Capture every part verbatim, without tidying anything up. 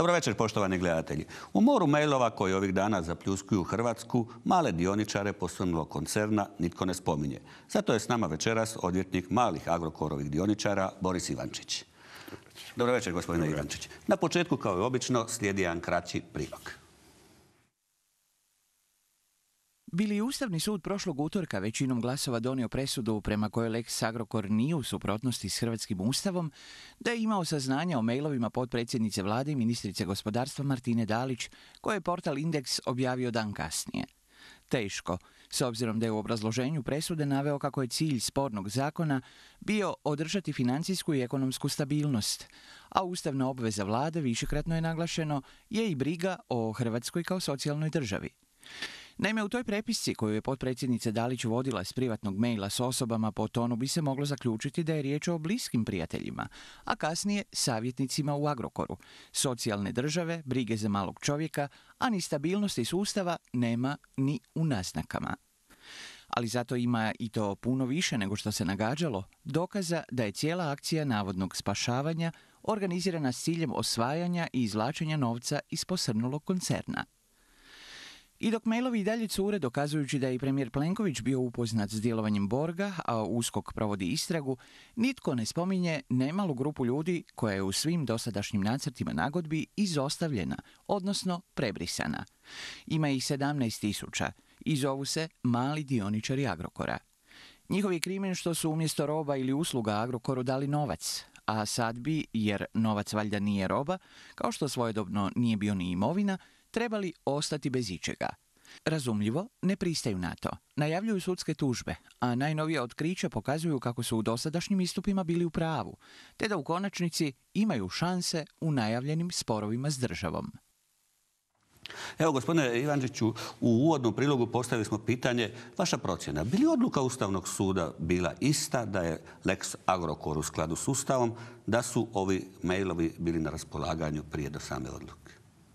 Dobro večer, poštovani gledatelji. U moru mailova koji ovih dana zapljuskuju Hrvatsku, male dioničare posrnulog koncerna nitko ne spominje. Zato je s nama večeras odvjetnik malih Agrokorovih dioničara Boris Ivančić. Dobro večer, gospodine Ivančić. Na početku, kao i obično, slijedi jedan kraći prilog. Bili je Ustavni sud prošlog utorka većinom glasova donio presudu prema kojoj Lex Agrokor nije u suprotnosti s hrvatskim ustavom, da je imao saznanja o mailovima potpredsjednice vlade i ministrice gospodarstva Martine Dalić, koje je portal Indeks objavio dan kasnije. Teško, s obzirom da je u obrazloženju presude naveo kako je cilj spornog zakona bio održati financijsku i ekonomsku stabilnost, a ustavna obveza vlade, višekratno je naglašeno, je i briga o Hrvatskoj kao socijalnoj državi. Naime, u toj prepisci koju je potpredsjednica Dalić vodila s privatnog maila s osobama po tonu bi se moglo zaključiti da je riječ o bliskim prijateljima, a kasnije savjetnicima u Agrokoru. Socijalne države, brige za malog čovjeka, a ni stabilnosti sustava nema ni u naznakama. Ali zato ima i to puno više nego što se nagađalo, dokaza da je cijela akcija navodnog spašavanja organizirana s ciljem osvajanja i izvlačenja novca iz posrnulog koncerna. I dok mailovi i dalje cure dokazujući da je i premijer Plenković bio upoznat s djelovanjem Borga, a USKOK provodi istragu, nitko ne spominje nemalu grupu ljudi koja je u svim dosadašnjim nacrtima nagodbi izostavljena, odnosno prebrisana. Ima ih sedamnaest tisuća i zovu se mali dioničari Agrokora. Njihov je krimen što su umjesto roba ili usluga Agrokoru dali novac, a sad bi, jer novac valjda nije roba, kao što svojedobno nije bio ni imovina, trebali ostati bez ičega. Razumljivo, ne pristaju na to. Najavljuju sudske tužbe, a najnovija otkrića pokazuju kako su u dosadašnjim istupima bili u pravu, te da u konačnici imaju šanse u najavljenim sporovima s državom. Evo, gospodine Ivančiću, u uvodnom prilogu postavili smo pitanje, vaša procjena, bi li odluka Ustavnog suda bila ista da je Lex Agrokor u skladu s Ustavom, da su ovi mailovi bili na raspolaganju prije do same odluke?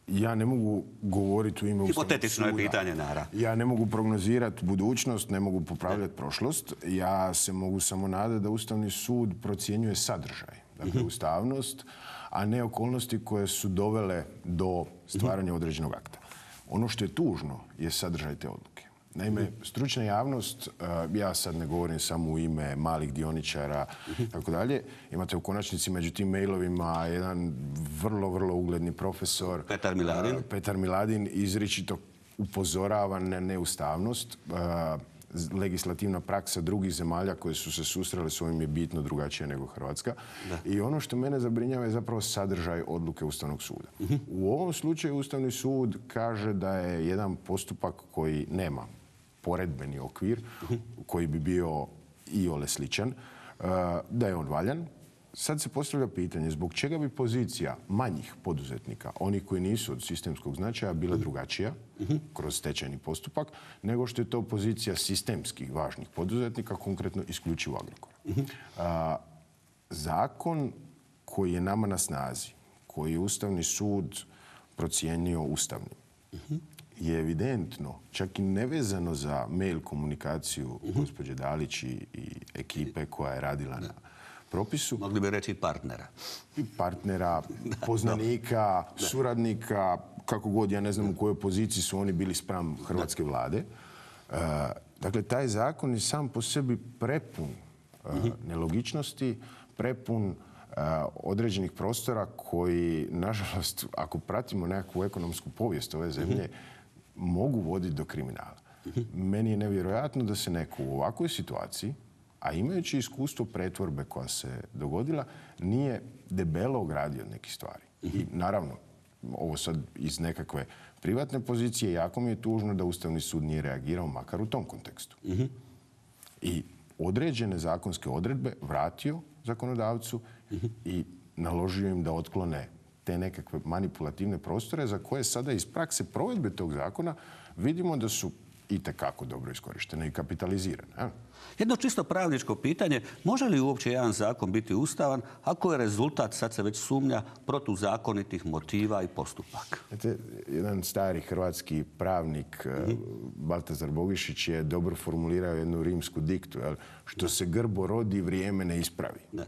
Ja ne mogu govoriti u ime Ustavnog suda. Hipotetično je pitanje, naravno. Ja ne mogu prognozirati budućnost, ne mogu popravljati prošlost. Ja se mogu samo nadati da Ustavni sud procjenjuje sadržaj, dakle ustavnost, a ne okolnosti koje su dovele do stvaranja određenog akta. Ono što je tužno je sadržaj te odluke. Naime, stručna javnost, ja sad ne govorim samo u ime malih dioničara, tako dalje, imate u konačnici među tim mailovima jedan vrlo, vrlo ugledni profesor, Petar Miladin, Petar Miladin izričito upozorava na neustavnost. Legislativna praksa drugih zemalja koje su se susrele s ovim je bitno drugačija nego Hrvatska. Da. I ono što mene zabrinjava je zapravo sadržaj odluke Ustavnog suda. Uh-huh. U ovom slučaju Ustavni sud kaže da je jedan postupak koji nema poredbeni okvir, uh-huh. koji bi bio iole sličan, da je on valjan. Sad se postavlja pitanje zbog čega bi pozicija manjih poduzetnika, onih koji nisu od sistemskog značaja, bila drugačija uh-huh. kroz stečajni postupak, nego što je to pozicija sistemskih važnih poduzetnika, konkretno isključivo Agrokora. Uh-huh. A, zakon koji je nama na snazi, koji je Ustavni sud procijenio ustavnim, uh-huh. je evidentno, čak i nevezano za mail komunikaciju uh-huh. gospođe Dalić i, i ekipe koja je radila na propisu. Mogli bi reći partnera. Partnera, poznanika, suradnika, kako god, ja ne znam u kojoj poziciji su oni bili spram hrvatske vlade. Uh, dakle, taj zakon je sam po sebi prepun uh, nelogičnosti, prepun uh, određenih prostora koji, nažalost, ako pratimo nekakvu ekonomsku povijest ove zemlje, mogu voditi do kriminala. Meni je nevjerojatno da se neko u ovakvoj situaciji, a imajući iskustvo pretvorbe koja se dogodila, nije debelo ogradio od nekih stvari. I naravno, ovo sad iz nekakve privatne pozicije, jako mi je tužno da Ustavni sud nije reagirao makar u tom kontekstu. I određene zakonske odredbe vratio zakonodavcu i naložio im da otklone te nekakve manipulativne prostore za koje sada iz prakse provedbe tog zakona vidimo da su itekako dobro iskorištene i kapitalizirane. A? Jedno čisto pravničko pitanje, može li uopće jedan zakon biti ustavan ako je rezultat, sad se već sumnja, protuzakonitih motiva i postupaka? Znate, jedan stari hrvatski pravnik, mm-hmm. Baltazar Bogišić, je dobro formulirao jednu rimsku diktu, jel? Što se grbo rodi, vrijeme ne ispravi. Ne.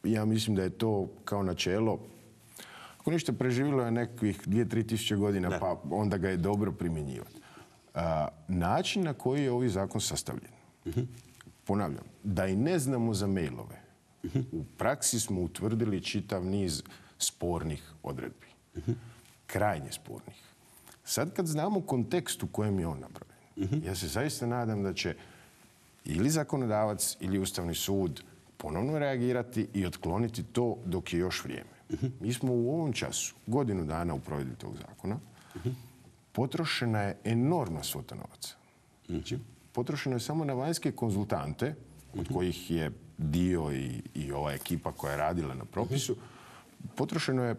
Ja mislim da je to kao načelo ako ništa preživjelo je nekakvih dvije, tri tisuće godina, Da. pa onda ga je dobro primjenjivati. A, način na koji je ovaj zakon sastavljen, ponavljam, da i ne znamo za mailove, u praksi smo utvrdili čitav niz spornih odredbi. Krajnje spornih. Sad kad znamo kontekst u kojem je on napravljen, ja se zaista nadam da će ili zakonodavac ili Ustavni sud ponovno reagirati i otkloniti to dok je još vrijeme. Mi smo u ovom času, godinu dana u provedbi tog zakona, potrošena je enormna svota novaca. Znači, potrošeno je samo na vanjske konzultante, od kojih je dio i, i ova ekipa koja je radila na propisu, potrošeno je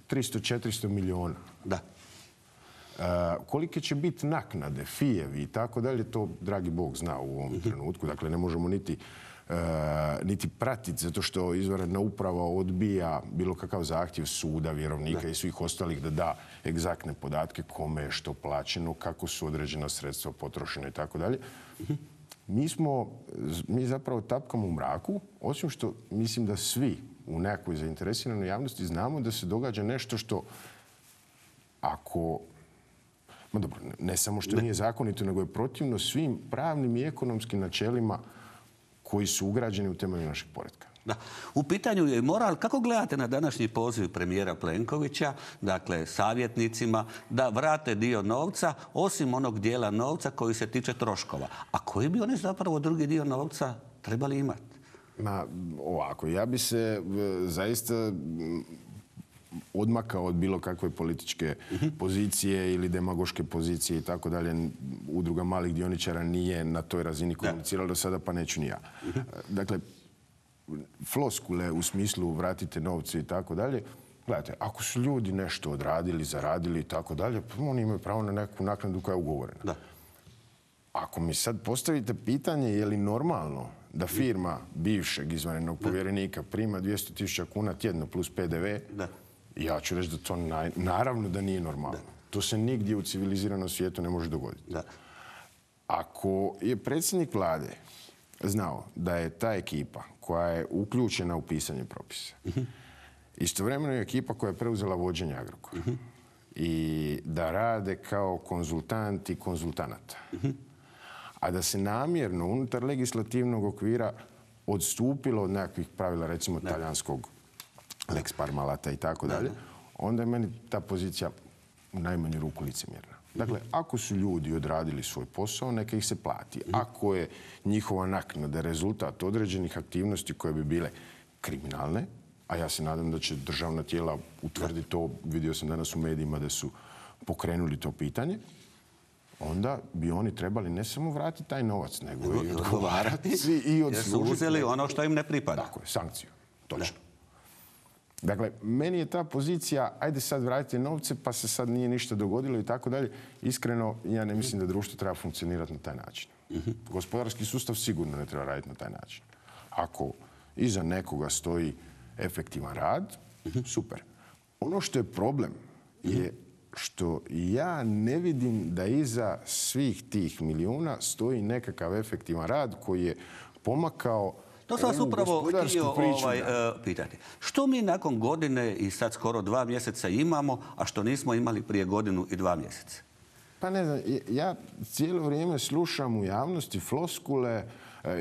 tristo do četiristo milijuna. Da. Uh, kolike će biti naknade, fijevi i tako dalje, to dragi Bog zna u ovom trenutku. Dakle, ne možemo niti, uh, niti pratiti, zato što izvanredna uprava odbija bilo kakav zahtjev suda, vjerovnika da. i svih ostalih da da egzaktne podatke kome je što plaćeno, kako su određena sredstva potrošena i tako dalje. Mi smo, mi zapravo tapkamo u mraku, osim što mislim da svi u nekakvoj zainteresiranoj javnosti znamo da se događa nešto što ako... Ma dobro, ne samo što nije zakonito, nego je protivno svim pravnim i ekonomskim načelima koji su ugrađeni u temelju našeg poretka. Da. U pitanju je moral. Kako gledate na današnji poziv premijera Plenkovića, dakle savjetnicima, da vrate dio novca, osim onog dijela novca koji se tiče troškova? A koji bi oni zapravo drugi dio novca trebali imati? Ma, ovako, ja bi se e, zaista odmakao od bilo kakve političke pozicije ili demagoške pozicije i tako dalje. Udruga malih dioničara nije na toj razini komunicirala do sada, pa neću ni ja. Dakle, floskule u smislu vratite novce i tako dalje, gledajte, ako su ljudi nešto odradili, zaradili i tako dalje, pa oni imaju pravo na neku naknadu koja je ugovorena. Da. Ako mi sad postavite pitanje je li normalno da firma bivšeg izvanrednog povjerenika prima dvjesto tisuća kuna tjedno plus pe de ve, Da. ja ću reći da to naj... naravno da nije normalno. Da. To se nigdje u civiliziranom svijetu ne može dogoditi. Da. Ako je predsjednik vlade znao da je ta ekipa koja je uključena u pisanje propisa, uh-huh. istovremeno je ekipa koja je preuzela vođenje Agrokora uh-huh. i da rade kao konzultanti konzultanata, uh-huh. a da se namjerno unutar legislativnog okvira odstupilo od nekakvih pravila, recimo da. talijanskog Lex Parmalata i tako dalje, onda je meni ta pozicija u najmanju ruku licemjerna. Dakle, ako su ljudi odradili svoj posao, neka ih se plati. Ako je njihova naknada rezultat određenih aktivnosti koje bi bile kriminalne, a ja se nadam da će državna tijela utvrditi to, vidio sam danas u medijima da su pokrenuli to pitanje, onda bi oni trebali ne samo vratiti taj novac, nego i odgovarati i odslužiti. Jer su uzeli ono što im ne pripada. Tako je, sankciju. Točno. Dakle, meni je ta pozicija, ajde sad vratite novce, pa se sad nije ništa dogodilo i tako dalje. Iskreno, ja ne mislim da društvo treba funkcionirati na taj način. Uh-huh. Gospodarski sustav sigurno ne treba raditi na taj način. Ako iza nekoga stoji efektivan rad, uh-huh. super. Ono što je problem uh-huh. je što ja ne vidim da iza svih tih milijuna stoji nekakav efektivan rad koji je pomakao. To sam vas upravo htio ovaj, uh, pitati. Što mi nakon godine i sad skoro dva mjeseca imamo, a što nismo imali prije godinu i dva mjeseca? Pa ne znam, ja cijelo vrijeme slušam u javnosti floskule,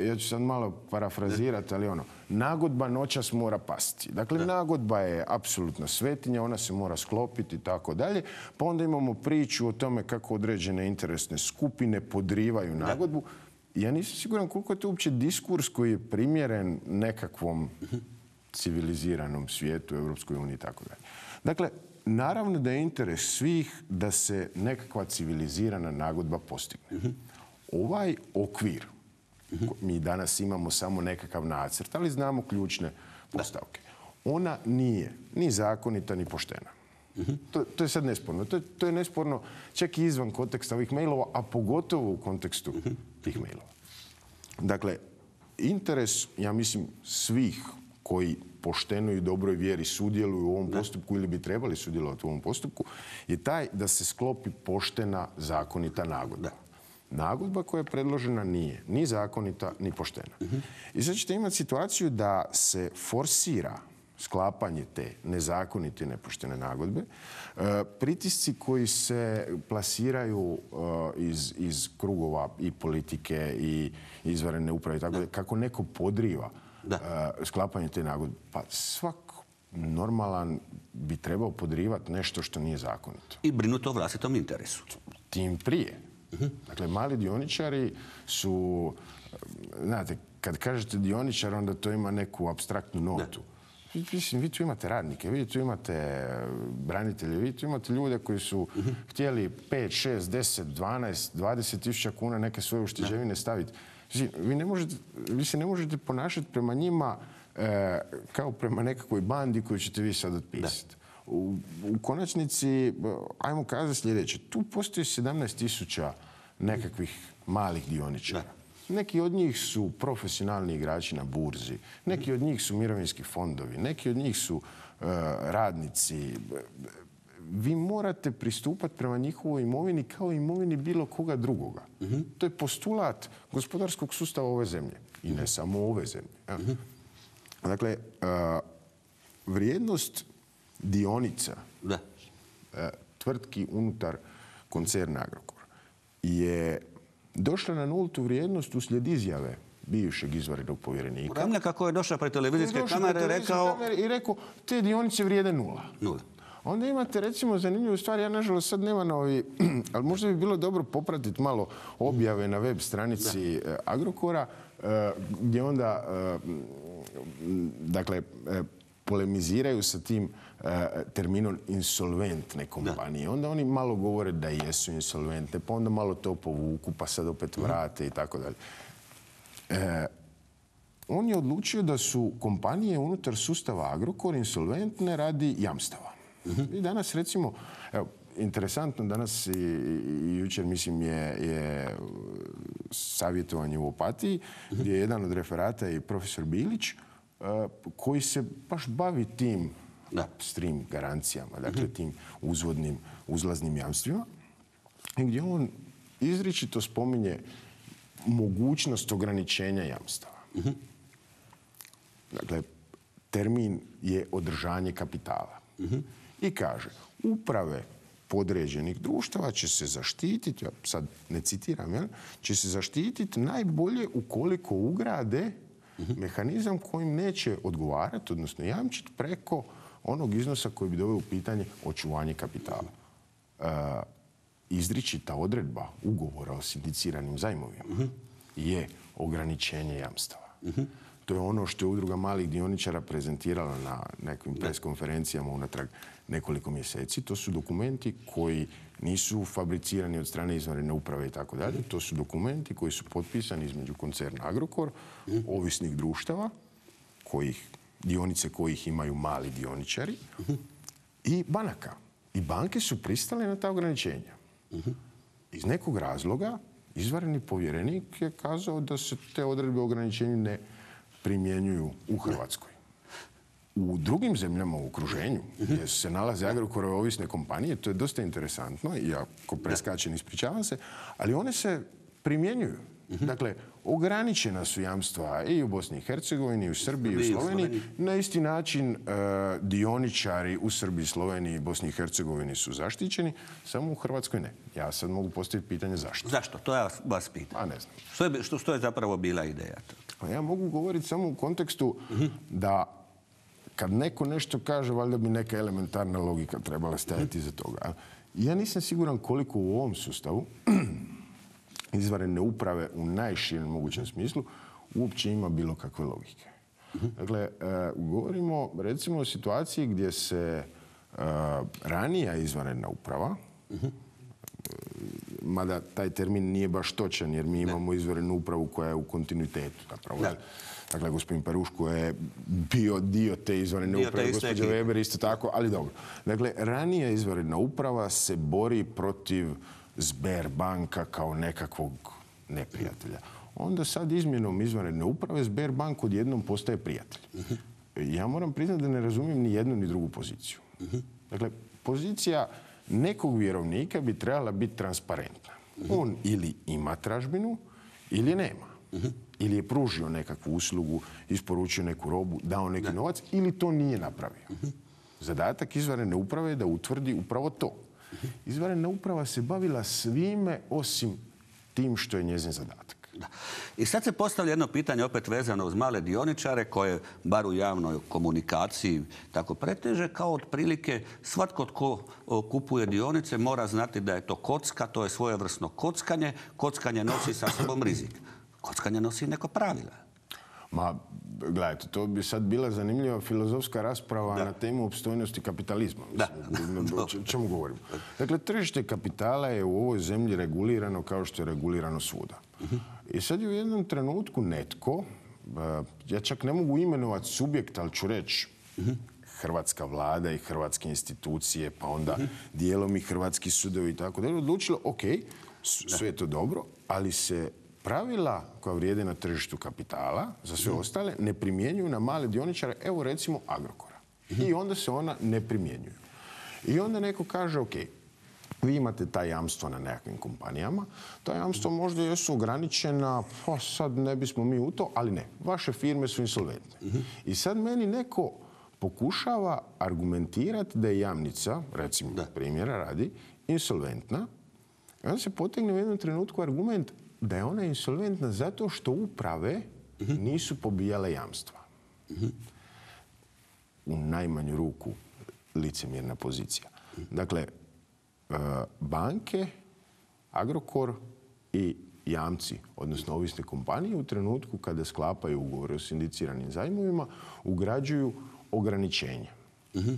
ja ću sad malo parafrazirati, ali ono, nagodba noćas mora pasti. Dakle, da. nagodba je apsolutna svetinja, ona se mora sklopiti i tako dalje. Pa onda imamo priču o tome kako određene interesne skupine podrivaju nagodbu. Da. Ja nisam siguran koliko je to uopće diskurs koji je primjeren nekakvom civiliziranom svijetu, Europskoj uniji i tako dalje. Dakle, naravno da je interes svih da se nekakva civilizirana nagodba postigne. Ovaj okvir, mi danas imamo samo nekakav nacrt, ali znamo ključne postavke. Ona nije ni zakonita, ni poštena. To, to je sad nesporno. To je, to je nesporno čak i izvan konteksta ovih mailova, a pogotovo u kontekstu tih mailova. Dakle, interes, ja mislim, svih koji pošteno i dobroj vjeri sudjeluju u ovom postupku ili bi trebali sudjelovati u ovom postupku, je taj da se sklopi poštena, zakonita nagodba. Nagodba koja je predložena nije ni zakonita, ni poštena. I sad ćete imati situaciju da se forsira sklapanje te nezakonite i nepoštene nagodbe, pritisci koji se plasiraju iz, iz krugova i politike i izvanredne uprave, tako da, kako neko podriva da. sklapanje te nagodbe, pa svak normalan bi trebao podrivati nešto što nije zakonito. I brinuti o vlastitom interesu. Tim prije. Uh-huh. Dakle, mali dioničari su, znate, kad kažete dioničar, onda to ima neku apstraktnu notu. Da. Mislim, vi tu imate radnike, vi tu imate branitelje, vi tu imate ljude koji su uh-huh. htjeli pet, šest, deset, dvanaest, dvadeset tisuća kuna neke svoje ušteđevine staviti. Vi, ne možete, vi se ne možete ponašati prema njima e, kao prema nekakvoj bandi koju ćete vi sad otpisati. U, u konačnici, ajmo kazati sljedeće, tu postoji sedamnaest tisuća nekakvih malih dioničara. Da. Neki od njih su profesionalni igrači na burzi, neki od njih su mirovinski fondovi, neki od njih su e, radnici. Vi morate pristupati prema njihovoj imovini kao imovini bilo koga drugoga. Uh-huh. To je postulat gospodarskog sustava ove zemlje. I ne samo ove zemlje. Uh-huh. Dakle, uh, vrijednost dionica da. Uh, tvrtki unutar koncerna Agrokor je došla na nultu vrijednost uslijed izjave bivšeg izvanrednog povjerenika. Uramlja kako je došao pred televizijske kamere rekao... i rekao, te dionice vrijede nula. Nula. Onda imate, recimo, zanimljivu stvar, ja nažalost sad nema novi, ali možda bi bilo dobro popratiti malo objave na web stranici da. Agrokora, gdje onda, dakle, polemiziraju sa tim terminom insolventne kompanije. Da. Onda oni malo govore da jesu insolventne, pa onda malo to povuku, pa sad opet vrate i tako dalje. On je odlučio da su kompanije unutar sustava Agrokor insolventne radi jamstava. I danas, recimo, evo, interesantno, danas i, i jučer, mislim, je, je savjetovanje u Opatiji, uh-huh. gdje je jedan od referata i profesor Bilić, uh, koji se baš bavi tim upstream garancijama, dakle, uh-huh. tim uzvodnim, uzlaznim jamstvima, i gdje on izričito spominje mogućnost ograničenja jamstava. Uh-huh. Dakle, termin je održanje kapitala. Uh-huh. I kaže, uprave podređenih društava će se zaštititi, ja sad ne citiram, jel, će se zaštititi najbolje ukoliko ugrade uh-huh. mehanizam kojim neće odgovarati, odnosno jamčiti preko onog iznosa koji bi doveo u pitanje očuvanje kapitala. Uh, izričita odredba ugovora o sindiciranim zajmovima uh-huh. je ograničenje jamstava. Uh-huh. To je ono što je Udruga malih dioničara prezentirala na nekim preskonferencijama unatrag nekoliko mjeseci. To su dokumenti koji nisu fabricirani od strane izvanredne uprave i tako dalje. To su dokumenti koji su potpisani između koncerna Agrokor, ovisnih društava, kojih, dionice kojih imaju mali dioničari, i banaka. I banke su pristale na ta ograničenja. Iz nekog razloga izvanredni povjerenik je kazao da se te odredbe o ograničenju ne primjenjuju u Hrvatskoj. U drugim zemljama u okruženju, gdje se nalaze Agrokorove ovisne kompanije, to je dosta interesantno, i ako preskačem, ispričavam se, ali one se primjenjuju. Dakle, ograničena su jamstva i u Bosni i Hercegovini, i u Srbiji, i u Sloveniji. Na isti način dioničari u Srbiji, Sloveniji i Bosni i Hercegovini su zaštićeni, samo u Hrvatskoj ne. Ja sad mogu postaviti pitanje zašto. Zašto? To ja vas pitam. A ne znam. Što je, što, što je zapravo bila ideja? Pa ja mogu govoriti samo u kontekstu da kad neko nešto kaže, valjda bi neka elementarna logika trebala stajati iza toga. Ja nisam siguran koliko u ovom sustavu izvanredne uprave u najširem mogućem smislu uopće ima bilo kakve logike. Dakle, e, govorimo recimo o situaciji gdje se e, ranija izvanredna uprava, mada taj termin nije baš točan jer mi imamo izvanrednu upravu koja je u kontinuitetu. Zapravo. Dakle, gospodin Peruško je bio dio te izvanredne uprave, gospođa Weber isto tako, ali dobro. Dakle, ranija izvanredna uprava se bori protiv Sberbanka kao nekakvog neprijatelja. Onda sad izmjenom izvanredne uprave Sberbank odjednom postaje prijatelj. Ja moram priznati da ne razumijem ni jednu ni drugu poziciju. Dakle, pozicija nekog vjerovnika bi trebala biti transparentna. On ili ima tražbinu ili nema. ili je pružio nekakvu uslugu, isporučio neku robu, dao neki novac, ili to nije napravio. Zadatak izvanredne uprave je da utvrdi upravo to. Izvanredna uprava se bavila svime osim tim što je njezin zadatak. Da. I sad se postavlja jedno pitanje opet vezano uz male dioničare koje, bar u javnoj komunikaciji, tako preteže, kao otprilike svatko tko kupuje dionice mora znati da je to kocka, to je svojevrsno kockanje. Kockanje nosi sa sobom rizik. Kockanje nosi neko pravila. Ma, gledajte, to bi sad bila zanimljiva filozofska rasprava da. na temu opstojnosti kapitalizma. Mislim, o čemu govorimo? Dakle, tržište kapitala je u ovoj zemlji regulirano kao što je regulirano svuda. Uh-huh. I sad je u jednom trenutku netko, ja čak ne mogu imenovati subjekt, ali ću reći uh-huh. hrvatska vlada i hrvatske institucije, pa onda uh-huh. dijelom i hrvatski sudovi i tako da je odlučilo, ok, sve je to dobro, ali se pravila koja vrijede na tržištu kapitala za sve ostale ne primjenjuju na male dioničare, evo recimo Agrokora. I onda se ona ne primjenjuju. I onda neko kaže, ok, vi imate ta jamstva na nekakvim kompanijama, ta jamstva možda jesu ograničena, pa sad ne bismo mi u to, ali ne, vaše firme su insolventne. I sad meni neko pokušava argumentirati da je jamnica, recimo primjera radi, insolventna, i onda se potegne u jednom trenutku argument da je ona insolventna zato što uprave uh-huh. nisu pobijale jamstva. Uh-huh. U najmanju ruku licemjerna pozicija. Uh-huh. Dakle, banke, Agrokor i jamci, odnosno ovisne kompanije, u trenutku kada sklapaju ugovore o sindiciranim zajmovima, ugrađuju ograničenja. Uh-huh.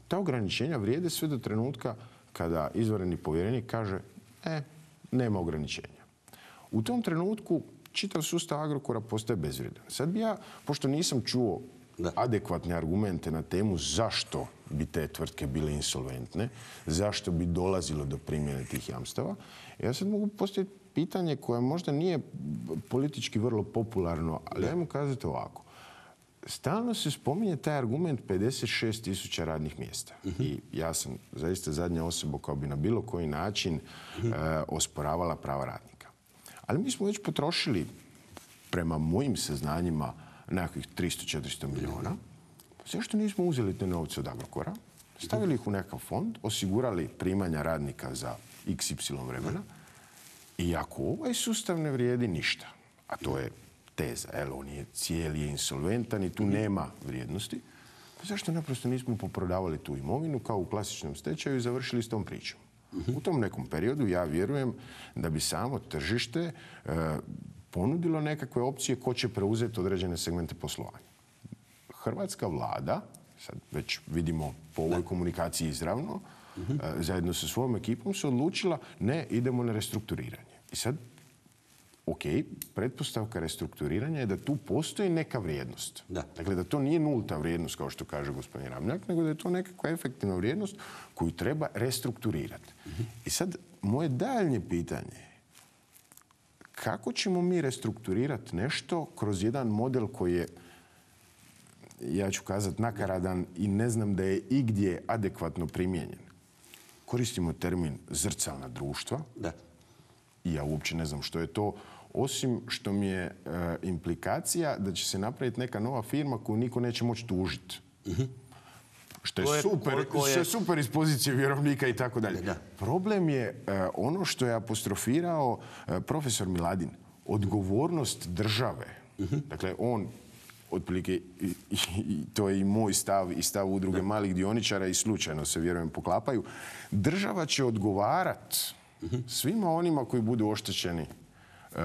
Ta ograničenja vrijede sve do trenutka kada izvanredni povjerenik kaže e, nema ograničenja. U tom trenutku čitav sustav Agrokora postaje bezvrijedan. Sad bi ja, pošto nisam čuo da. adekvatne argumente na temu zašto bi te tvrtke bile insolventne, zašto bi dolazilo do primjene tih jamstava, ja sad mogu postaviti pitanje koje možda nije politički vrlo popularno, ali ajmo kazati ovako. Stalno se spominje taj argument pedeset šest tisuća radnih mjesta. Uh-huh. I ja sam zaista zadnja osoba koja bi na bilo koji način uh-huh. uh, osporavala prava radnika. Ali mi smo već potrošili, prema mojim saznanjima, nekakvih tristo do četiristo milijuna. Zašto nismo uzeli te novce od Agrokora, stavili ih u nekakav fond, osigurali primanja radnika za iks ipsilon vremena i ako ovaj sustav ne vrijedi ništa, a to je teza, jel, on je cijeli je insolventan i tu nema vrijednosti, zašto naprosto nismo poprodavali tu imovinu kao u klasičnom stečaju i završili s tom pričom? U tom nekom periodu ja vjerujem da bi samo tržište e, ponudilo nekakve opcije ko će preuzeti određene segmente poslovanja. Hrvatska vlada, sad već vidimo po ovoj komunikaciji izravno, uh-huh. e, zajedno sa svojom ekipom se odlučila ne, idemo na restrukturiranje. I sad, ok, pretpostavka restrukturiranja je da tu postoji neka vrijednost. Da. Dakle, da to nije nulta vrijednost, kao što kaže gospodin Ramljak, nego da je to nekakva efektivna vrijednost koju treba restrukturirati. Uh-huh. I sad, moje daljnje pitanje je kako ćemo mi restrukturirati nešto kroz jedan model koji je, ja ću kazati, nakaradan i ne znam da je igdje adekvatno primijenjen. Koristimo termin zrcalna društva. Da. I ja uopće ne znam što je to, osim što mi je e, implikacija da će se napraviti neka nova firma koju niko neće moći tužiti. Uh-huh. Što je, je super, je... što je super iz pozicije vjerovnika i tako dalje. Problem je e, ono što je apostrofirao e, profesor Miladin. Odgovornost države. Uh-huh. Dakle, on, otprilike, i, i, i, to je i moj stav i stav udruge da. malih dioničara i slučajno se, vjerujem, poklapaju. Država će odgovarati svima onima koji budu oštećeni uh,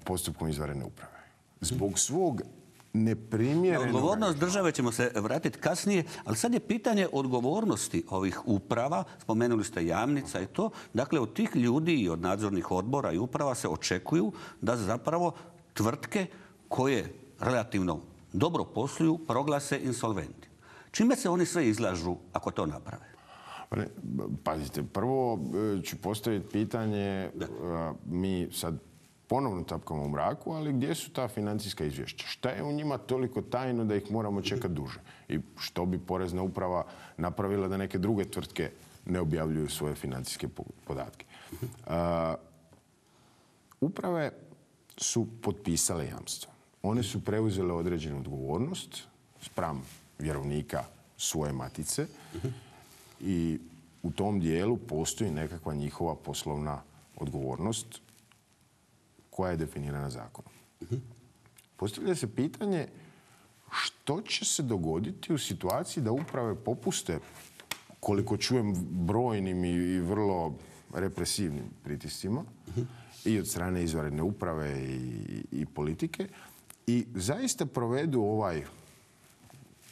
postupkom izvanredne uprave. Zbog svog neprimjerenog... Odgovornost države ćemo se vratiti kasnije, ali sad je pitanje odgovornosti ovih uprava. Spomenuli ste Jamnica i to. Dakle, od tih ljudi i od nadzornih odbora i uprava se očekuju da zapravo tvrtke koje relativno dobro posluju proglase insolventi. Čime se oni sve izlažu ako to naprave? Pazite, prvo ću postaviti pitanje, da. mi sad ponovno tapkamo u mraku, ali gdje su ta financijska izvješća? Šta je u njima toliko tajno da ih moramo čekati duže? I što bi Porezna uprava napravila da neke druge tvrtke ne objavljuju svoje financijske podatke? Uh, uprave su potpisale jamstvo. One su preuzele određenu odgovornost spram vjerovnika svoje matice i u tom dijelu postoji nekakva njihova poslovna odgovornost koja je definirana zakonom. Postavlja se pitanje što će se dogoditi u situaciji da uprave popuste, koliko čujem, brojnim i vrlo represivnim pritiscima i od strane izvanredne uprave i, i politike i zaista provedu ovaj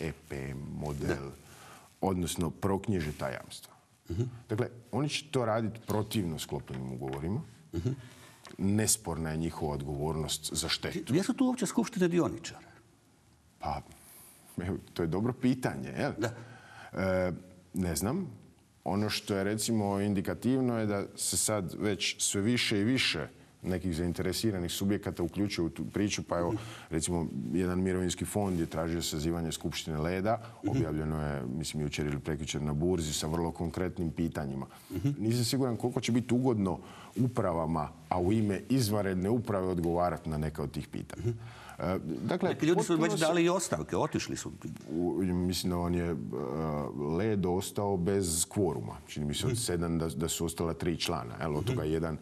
E P M model, odnosno proknjiže ta jamstva. Dakle, oni će to raditi protivno sklopljenim ugovorima. Nesporna je njihova odgovornost za štetu. Gdje su tu uopće skupštine dioničara? Pa, evo, to je dobro pitanje, jel? Da. E, ne znam. Ono što je, recimo, indikativno je da se sad već sve više i više nekih zainteresiranih subjekata uključuju u tu priču, pa evo, recimo, jedan mirovinski fond je tražio sazivanje skupštine Leda, objavljeno je, mislim, jučer ili prekjučer na burzi sa vrlo konkretnim pitanjima. Nisam siguran koliko će biti ugodno upravama, a u ime izvanredne uprave odgovarati na neka od tih pitanja. Dakle, neki ljudi su već dali i ostavke, otišli su. U, mislim da on je uh, Led ostao bez kvoruma. Čini mi se od sedam da, da su ostala tri člana. Jel, od toga jedan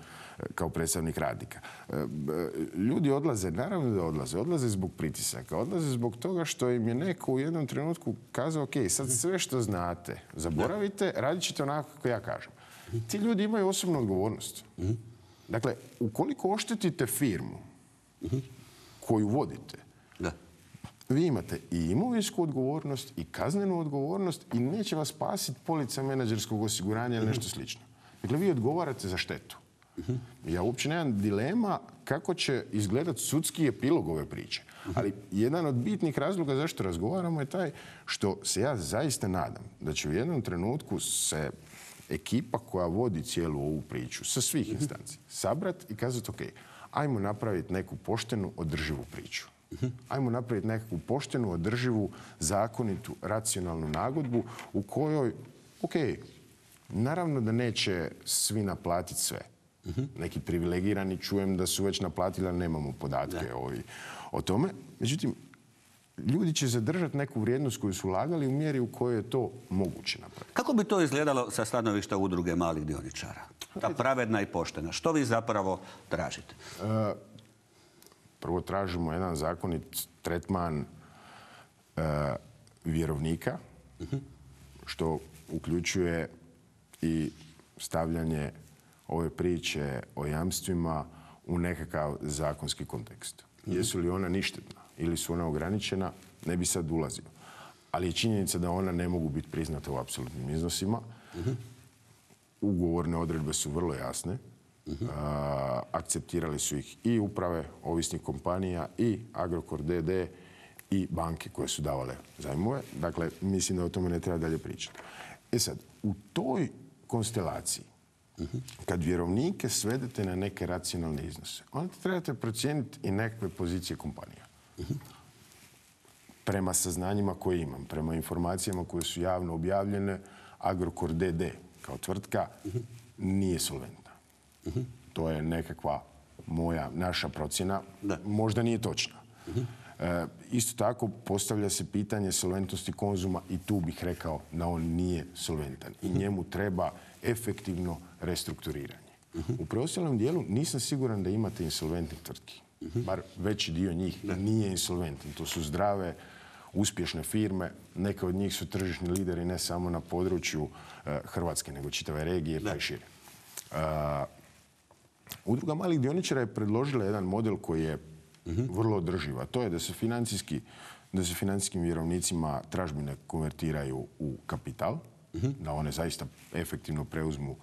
kao predstavnik radnika. Uh, ljudi odlaze, naravno da odlaze. Odlaze zbog pritisaka. Odlaze zbog toga što im je neko u jednom trenutku kazao ok, sad sve što znate, zaboravite, radit ćete onako kako ja kažem. Ti ljudi imaju osobnu odgovornost. Dakle, ukoliko oštetite firmu koju vodite, Da. vi imate i imovinsku odgovornost i kaznenu odgovornost i neće vas spasiti polica menadžerskog osiguranja ili nešto slično. Dakle, vi odgovarate za štetu. Ja uopće nemam dilema kako će izgledati sudski epilog ove priče. Ali jedan od bitnih razloga zašto razgovaramo je taj što se ja zaista nadam da će u jednom trenutku se ekipa koja vodi cijelu ovu priču sa svih instanci sabrati i kazati ok, ajmo napraviti neku poštenu, održivu priču. Ajmo napraviti neku poštenu, održivu, zakonitu, racionalnu nagodbu u kojoj, ok, naravno da neće svi naplatiti sve. Neki privilegirani čujem da su već naplatili, ali nemamo podatke ovi, o tome. Međutim, ljudi će zadržati neku vrijednost koju su ulagali u mjeri u kojoj je to moguće napraviti. Kako bi to izgledalo sa stanovišta udruge malih dioničara? Ta pravedna i poštena. Što vi zapravo tražite? E, prvo tražimo jedan zakonit tretman e, vjerovnika, što uključuje i stavljanje ove priče o jamstvima u nekakav zakonski kontekst. Jesu li ona ništetna ili su ona ograničena, ne bi sad ulazio. Ali je činjenica da ona ne mogu biti priznata u apsolutnim iznosima. Ugovorne odredbe su vrlo jasne. A, akceptirali su ih i uprave ovisnih kompanija i Agrokor D D i banke koje su davale zajmove. Dakle, mislim da o tome ne treba dalje pričati. E sad, u toj konstelaciji, kad vjerovnike svedete na neke racionalne iznose, onda trebate procijeniti i nekakve pozicije kompanija. Prema saznanjima koje imam, prema informacijama koje su javno objavljene, Agrokor D D kao tvrtka nije solventna. To je nekakva moja, naša procjena. Da. Možda nije točna. E, isto tako postavlja se pitanje solventnosti Konzuma i tu bih rekao da on nije solventan. I njemu treba efektivno restrukturiranje. U preostalom dijelu nisam siguran da imate insolventnih tvrtki. Bar veći dio njih nije insolventan. To su zdrave, uspješne firme. Neke od njih su tržišni lideri ne samo na području uh, Hrvatske, nego čitave regije pa i šire. Uh, Udruga malih dioničara je predložila jedan model koji je vrlo održiv, a to je da se financijski, da se financijskim vjerovnicima tražbine konvertiraju u kapital, da one zaista efektivno preuzmu uh,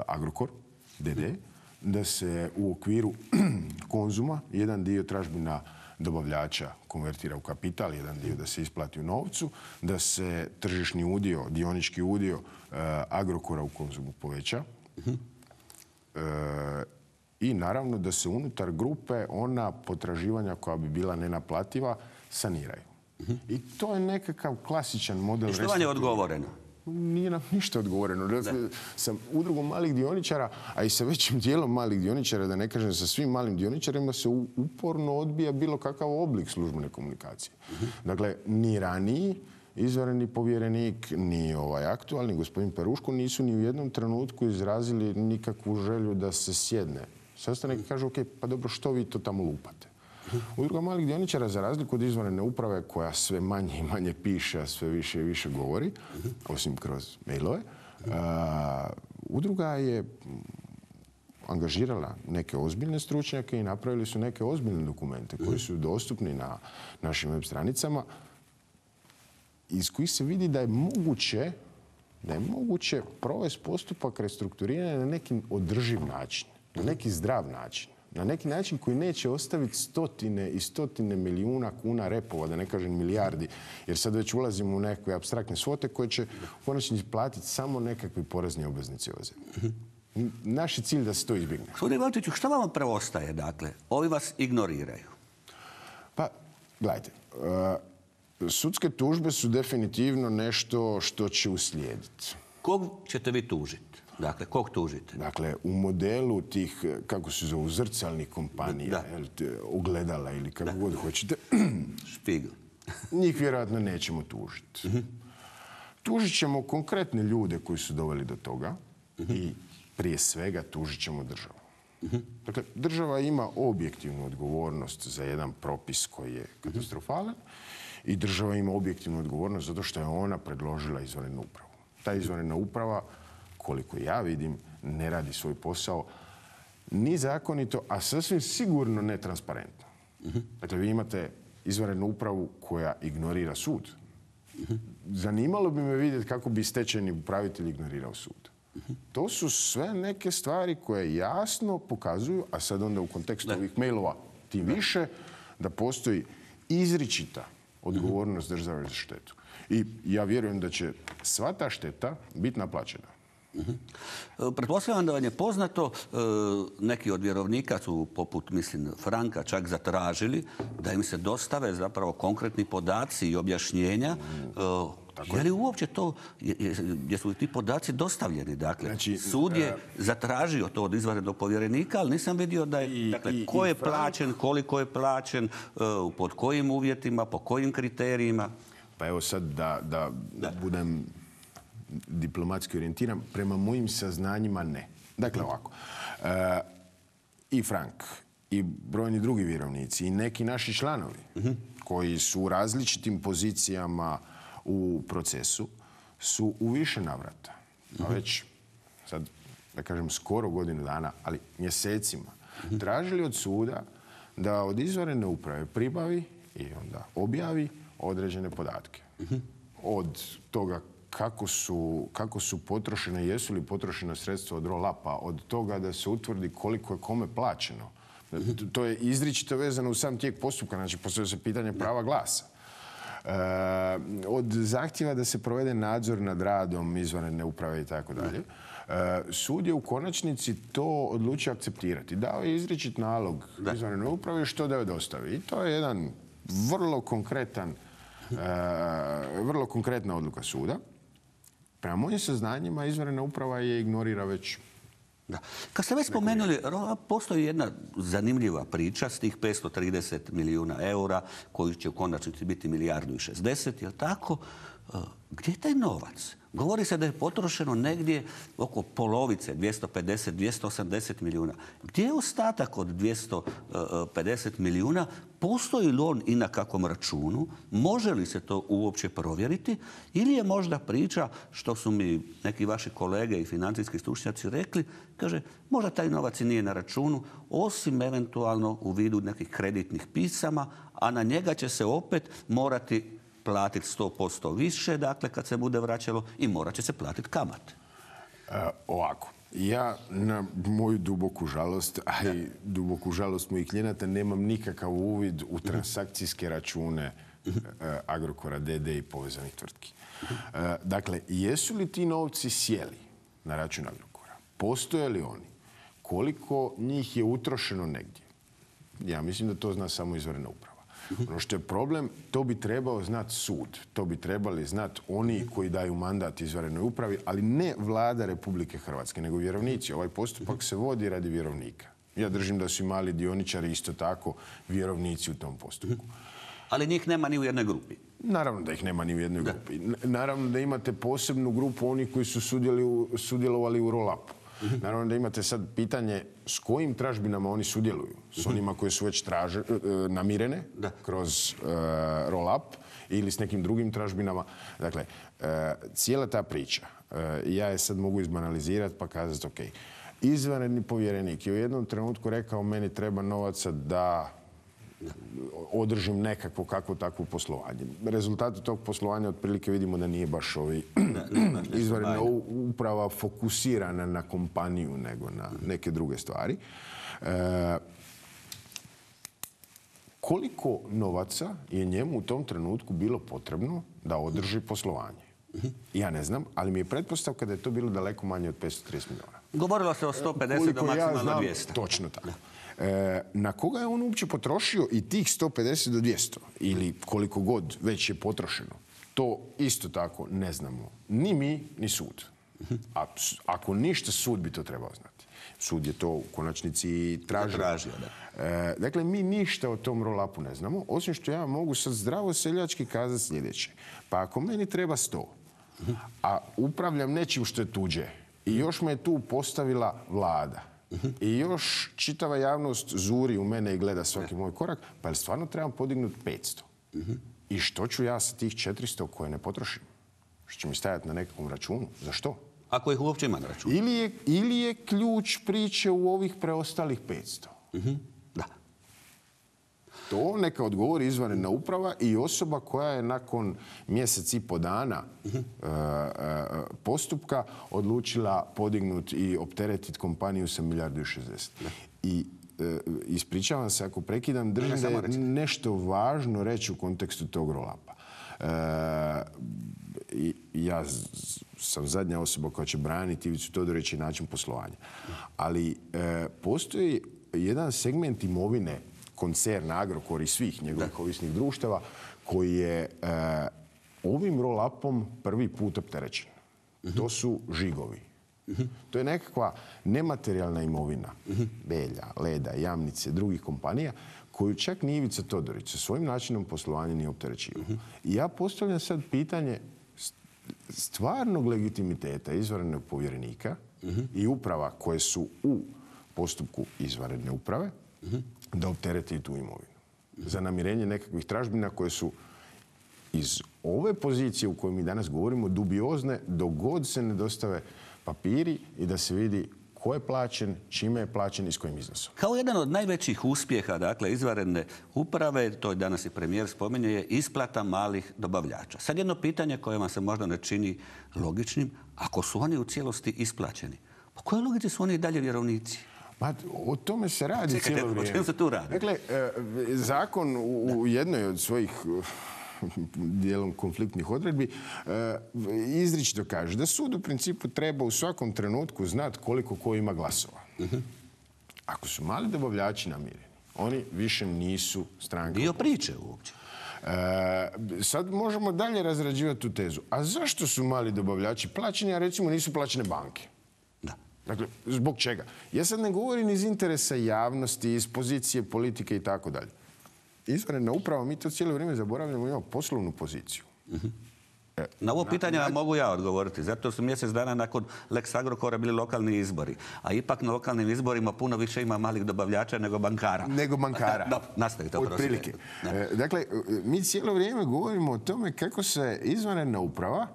Agrokor D D, da se u okviru Konzuma jedan dio tražbina dobavljača konvertira u kapital, jedan dio da se isplati u novcu, da se tržišni udio, dionički udio uh, Agrokora u Konzumu poveća. Uh, I naravno da se unutar grupe ona potraživanja koja bi bila nenaplativa saniraju. I to je nekakav klasičan model I što vam je odgovoreno? nije nam ništa odgovoreno. Dakle, sa udrugom malih dioničara, a i sa većim dijelom malih dioničara, da ne kažem sa svim malim dioničarima, se uporno odbija bilo kakav oblik službene komunikacije. Dakle, ni raniji izvanredni povjerenik, ni ovaj aktualni gospodin Peruško nisu ni u jednom trenutku izrazili nikakvu želju da se sjedne sastanak i kažu, ok, pa dobro, što vi to tamo lupate? Udruga malih dioničara, za razliku od izvanredne uprave koja sve manje i manje piše, a sve više i više govori, osim kroz mailove, udruga je angažirala neke ozbiljne stručnjake i napravili su neke ozbiljne dokumente koji su dostupni na našim web stranicama, iz kojih se vidi da je moguće da je moguće provesti postupak restrukturiranja na neki održiv način, na neki zdrav način. Na neki način koji neće ostaviti stotine i stotine milijuna kuna repova, da ne kažem milijardi, jer sad već ulazimo u nekakve apstraktne svote koje će u konačnici platiti samo nekakvi porezni obveznici ove zemlje. Naš je cilj da se to izbjegne. Gospodine Valčiću, šta vam preostaje, dakle? Ovi vas ignoriraju. Pa, gledajte, sudske tužbe su definitivno nešto što će uslijediti. Kog ćete vi tužiti? Dakle, kog tužite? Dakle, u modelu tih, kako se zovu, zrcalnih kompanija, ogledala ili kako god hoćete, Špigl. Njih vjerojatno nećemo tužiti. Tužit ćemo konkretne ljude koji su doveli do toga i prije svega tužit ćemo državu. Dakle, država ima objektivnu odgovornost za jedan propis koji je katastrofalan i država ima objektivnu odgovornost zato što je ona predložila izvanrednu upravu. Ta izvanredna uprava, koliko ja vidim, ne radi svoj posao ni zakonito, a sasvim sigurno netransparentno. Dakle, vi imate izvanrednu upravu koja ignorira sud. Zanimalo bi me vidjeti kako bi stečajni upravitelj ignorirao sud. To su sve neke stvari koje jasno pokazuju, a sad onda u kontekstu ovih mailova tim više, da postoji izričita odgovornost države za štetu. I ja vjerujem da će sva ta šteta biti naplaćena. Pretpostavljam da vam je poznato, neki od vjerovnika su, poput, mislim, Franka, čak zatražili da im se dostave zapravo konkretni podaci i objašnjenja. Je li uopće to, jesu li ti podaci dostavljeni? Dakle, sud je zatražio to od izvanrednog povjerenika, ali nisam vidio da je, dakle, ko je plaćen, koliko je plaćen, pod kojim uvjetima, po kojim kriterijima. Pa evo sad da budem diplomatski orijentiran, prema mojim saznanjima ne. Dakle, ovako, i Frank, i brojni drugi vjerovnici, i neki naši članovi koji su u različitim pozicijama u procesu, su u više navrata, a već sad, da kažem, skoro godinu dana, ali mjesecima, tražili od suda da od izvanredne uprave pribavi i onda objavi određene podatke. Od toga kako su, kako su potrošene, jesu li potrošena sredstva od roll-upa, od toga da se utvrdi koliko je kome plaćeno. To je izričito vezano u sam tijek postupka, znači postoje se pitanje prava glasa. E, od zahtjeva da se provede nadzor nad radom izvanredne uprave i tako dalje. Sud je u konačnici to odlučio akceptirati. Dao je izričit nalog izvanrednoj upravi što da joj dostavi. I to je jedan vrlo konkretan, e, vrlo konkretna odluka suda. Prema mojim saznanjima, izvanredna uprava je ignorira već. Da. Kad ste već spomenuli, postoji jedna zanimljiva priča s tih petsto trideset milijuna eura, koji će u konačnici biti milijardu i šezdeset, je li tako? Gdje je taj novac? Govori se da je potrošeno negdje oko polovice, dvjesto pedeset do dvjesto osamdeset milijuna. Gdje je ostatak od dvjesto pedeset milijuna? Postoji li on i na kakvom računu? Može li se to uopće provjeriti? Ili je možda priča, što su mi neki vaši kolege i financijski stručnjaci rekli, kaže, možda taj novac i nije na računu, osim eventualno u vidu nekih kreditnih pisama, a na njega će se opet morati platiti sto posto više, dakle, kad se bude vraćalo, i morat će se platiti kamate. E, ovako, ja na moju duboku žalost, a i duboku žalost mojih klijenata, nemam nikakav uvid u transakcijske račune e, Agrokora D D i povezanih tvrtki. E, dakle, jesu li ti novci sjeli na račun Agrokora? Postoje li oni? Koliko njih je utrošeno negdje? Ja mislim da to zna samo izvanredna uprava. Ono što je problem, to bi trebao znati sud. To bi trebali znati oni koji daju mandat izvanrednoj upravi, ali ne vlada Republike Hrvatske, nego vjerovnici. Ovaj postupak se vodi radi vjerovnika. Ja držim da su i mali dioničari isto tako vjerovnici u tom postupku. Ali njih nema ni u jednoj grupi. Naravno da ih nema ni u jednoj grupi. Naravno da imate posebnu grupu onih koji su sudjelovali u roll-upu. Naravno da imate sad pitanje s kojim tražbinama oni sudjeluju. S onima koje su već traže, namirene kroz roll-up ili s nekim drugim tražbinama. Dakle, cijela ta priča, ja je sad mogu izbanalizirati pa kazati ok, izvanredni povjerenik je u jednom trenutku rekao meni treba novaca da održim nekakvo kakvo takvo poslovanje. Rezultati tog poslovanja otprilike vidimo da nije baš ovi izvanredna uprava fokusirana na kompaniju nego na neke druge stvari. E, koliko novaca je njemu u tom trenutku bilo potrebno da održi poslovanje? Ja ne znam, ali mi je pretpostavka da je to bilo daleko manje od petsto trideset milijuna. Govorilo se o sto pedeset do maksimalno dvjesto. Točno tako. E, na koga je on uopće potrošio i tih sto pedeset do dvjesto ili koliko god već je potrošeno? To isto tako ne znamo. Ni mi, ni sud. A, ako ništa, sud bi to trebao znati. Sud je to u konačnici tražio. tražio da. E, dakle, mi ništa o tom roll-upu ne znamo, osim što ja mogu sad zdravo seljački kazati sljedeće. Pa ako meni treba sto, a upravljam nečim što je tuđe i još me je tu postavila vlada, i još čitava javnost zuri u mene i gleda svaki moj korak, pa je stvarno trebam podignuti petsto. I što ću ja sa tih četiristo koje ne potrošim? Što će mi stajati na nekakvom računu? Za što? Ako ih uopće ima na računu. Ili je, ili je ključ priče u ovih preostalih petsto? Da. To neka odgovori izvanredna uprava i osoba koja je nakon mjesec i po dana uh, uh, postupka odlučila podignuti i opteretiti kompaniju sa milijardu i šezdeset. I uh, ispričavam se ako prekidam, držim da je nešto važno reći u kontekstu tog roll-upa. Uh, i, ja sam zadnja osoba koja će braniti Ivicu Todorića i način poslovanja. Ali uh, postoji jedan segment imovine koncern Agrokor i svih njegovih ovisnih društava koji je e, ovim roll-upom prvi put opterećen. Uh-huh. To su žigovi. Uh-huh. To je nekakva nematerijalna imovina uh-huh. Belja, Leda, Jamnice, drugih kompanija koju čak ni Ivica Todorić sa svojim načinom poslovanja nije opterećivao. Uh-huh. I ja postavljam sad pitanje stvarnog legitimiteta izvanrednog povjerenika uh-huh. i uprava koje su u postupku izvanredne uprave uh-huh. da optereti tu imovinu. Za namirenje nekakvih tražbina koje su iz ove pozicije u kojoj mi danas govorimo dubiozne dok god se ne dostave papiri i da se vidi ko je plaćen, čime je plaćen i s kojim iznosom. Kao jedan od najvećih uspjeha, dakle, izvanredne uprave, to je danas i premijer spominje, je isplata malih dobavljača. Sad jedno pitanje koje vam se možda ne čini logičnim, ako su oni u cijelosti isplaćeni, po kojoj logici su oni i dalje vjerovnici? Pa, o tome se radi Čekajte, cijelo vrijeme. O čemu se tu radi? Dakle, zakon u jednoj od svojih dijelom konfliktnih odredbi izričito kaže da sud u principu treba u svakom trenutku znati koliko ko ima glasova. Uh-huh. Ako su mali dobavljači namireni, oni više nisu stranka. Dio priče uopće. E, sad možemo dalje razrađivati tu tezu. A zašto su mali dobavljači plaćeni, a recimo nisu plaćene banke? Dakle, zbog čega? Ja sad ne govorim iz interesa javnosti, iz pozicije politike i tako dalje. Izvanredna uprava, mi to cijelo vrijeme zaboravljamo, imamo poslovnu poziciju. Uh-huh. e, na ovo pitanje na... mogu ja odgovoriti. Zato su mjesec dana nakon Lex Agrokora bili lokalni izbori. A ipak na lokalnim izborima puno više ima malih dobavljača nego bankara. Nego bankara. Da, nastavite. Od prilike. E, dakle, mi cijelo vrijeme govorimo o tome kako se izvanredna uprava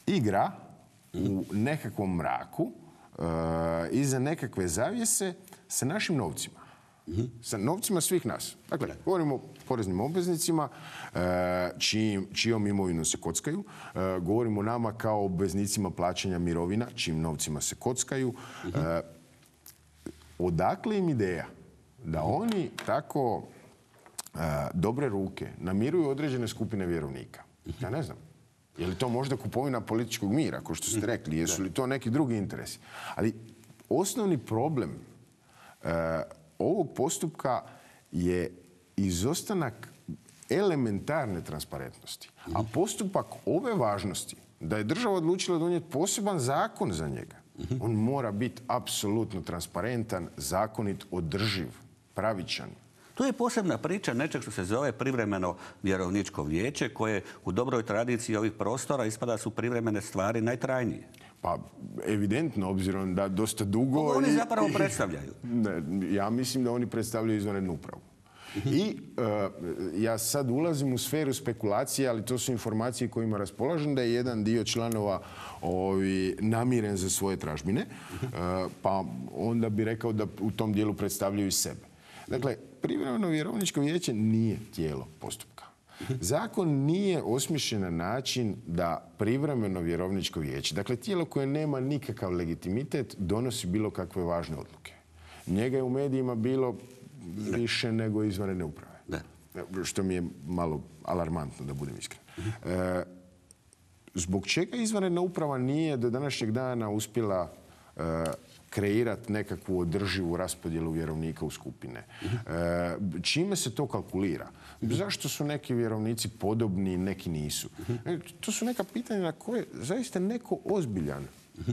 igra uh-huh. u nekakvom mraku Uh, iza nekakve zavjese sa našim novcima. Uh-huh. Sa novcima svih nas. Dakle, govorimo o poreznim obveznicima, uh, čijim, čijom imovinom se kockaju. Uh, govorimo o nama kao obveznicima plaćanja mirovina, čijim novcima se kockaju. Uh-huh. Uh, odakle im ideja da oni tako uh, dobre ruke namiruju određene skupine vjerovnika? Uh-huh. Ja ne znam. Je li to možda kupovina političkog mira, kao što ste rekli? Jesu li to neki drugi interesi? Ali osnovni problem uh, ovog postupka je izostanak elementarne transparentnosti. A postupak ove važnosti, da je država odlučila donijeti poseban zakon za njega, on mora biti apsolutno transparentan, zakonit, održiv, pravičan. Tu je posebna priča nečeg što se zove privremeno vjerovničko vijeće, koje u dobroj tradiciji ovih prostora ispada su privremene stvari najtrajnije. Pa, evidentno, obzirom da dosta dugo... Ovo oni i- zapravo i- predstavljaju. Ne, ja mislim da oni predstavljaju izvanrednu upravu. I e, ja sad ulazim u sferu spekulacije, ali to su informacije kojima raspolažem, da je jedan dio članova ovi, namiren za svoje tražbine, e, pa onda bi rekao da u tom dijelu predstavljaju i sebe. Dakle, privremeno vjerovničko vijeće nije tijelo postupka. Zakon nije osmišljen na način da privremeno vjerovničko vijeće, dakle tijelo koje nema nikakav legitimitet, donosi bilo kakve važne odluke. Njega je u medijima bilo više nego izvanredne uprave. Da. Što mi je malo alarmantno, da budem iskren. E, zbog čega izvanredna uprava nije do današnjeg dana uspjela e, kreirati nekakvu održivu raspodjelu vjerovnika u skupine? E, čime se to kalkulira? Zašto su neki vjerovnici podobni, neki nisu? E, to su neka pitanja na koje zaista neko ozbiljan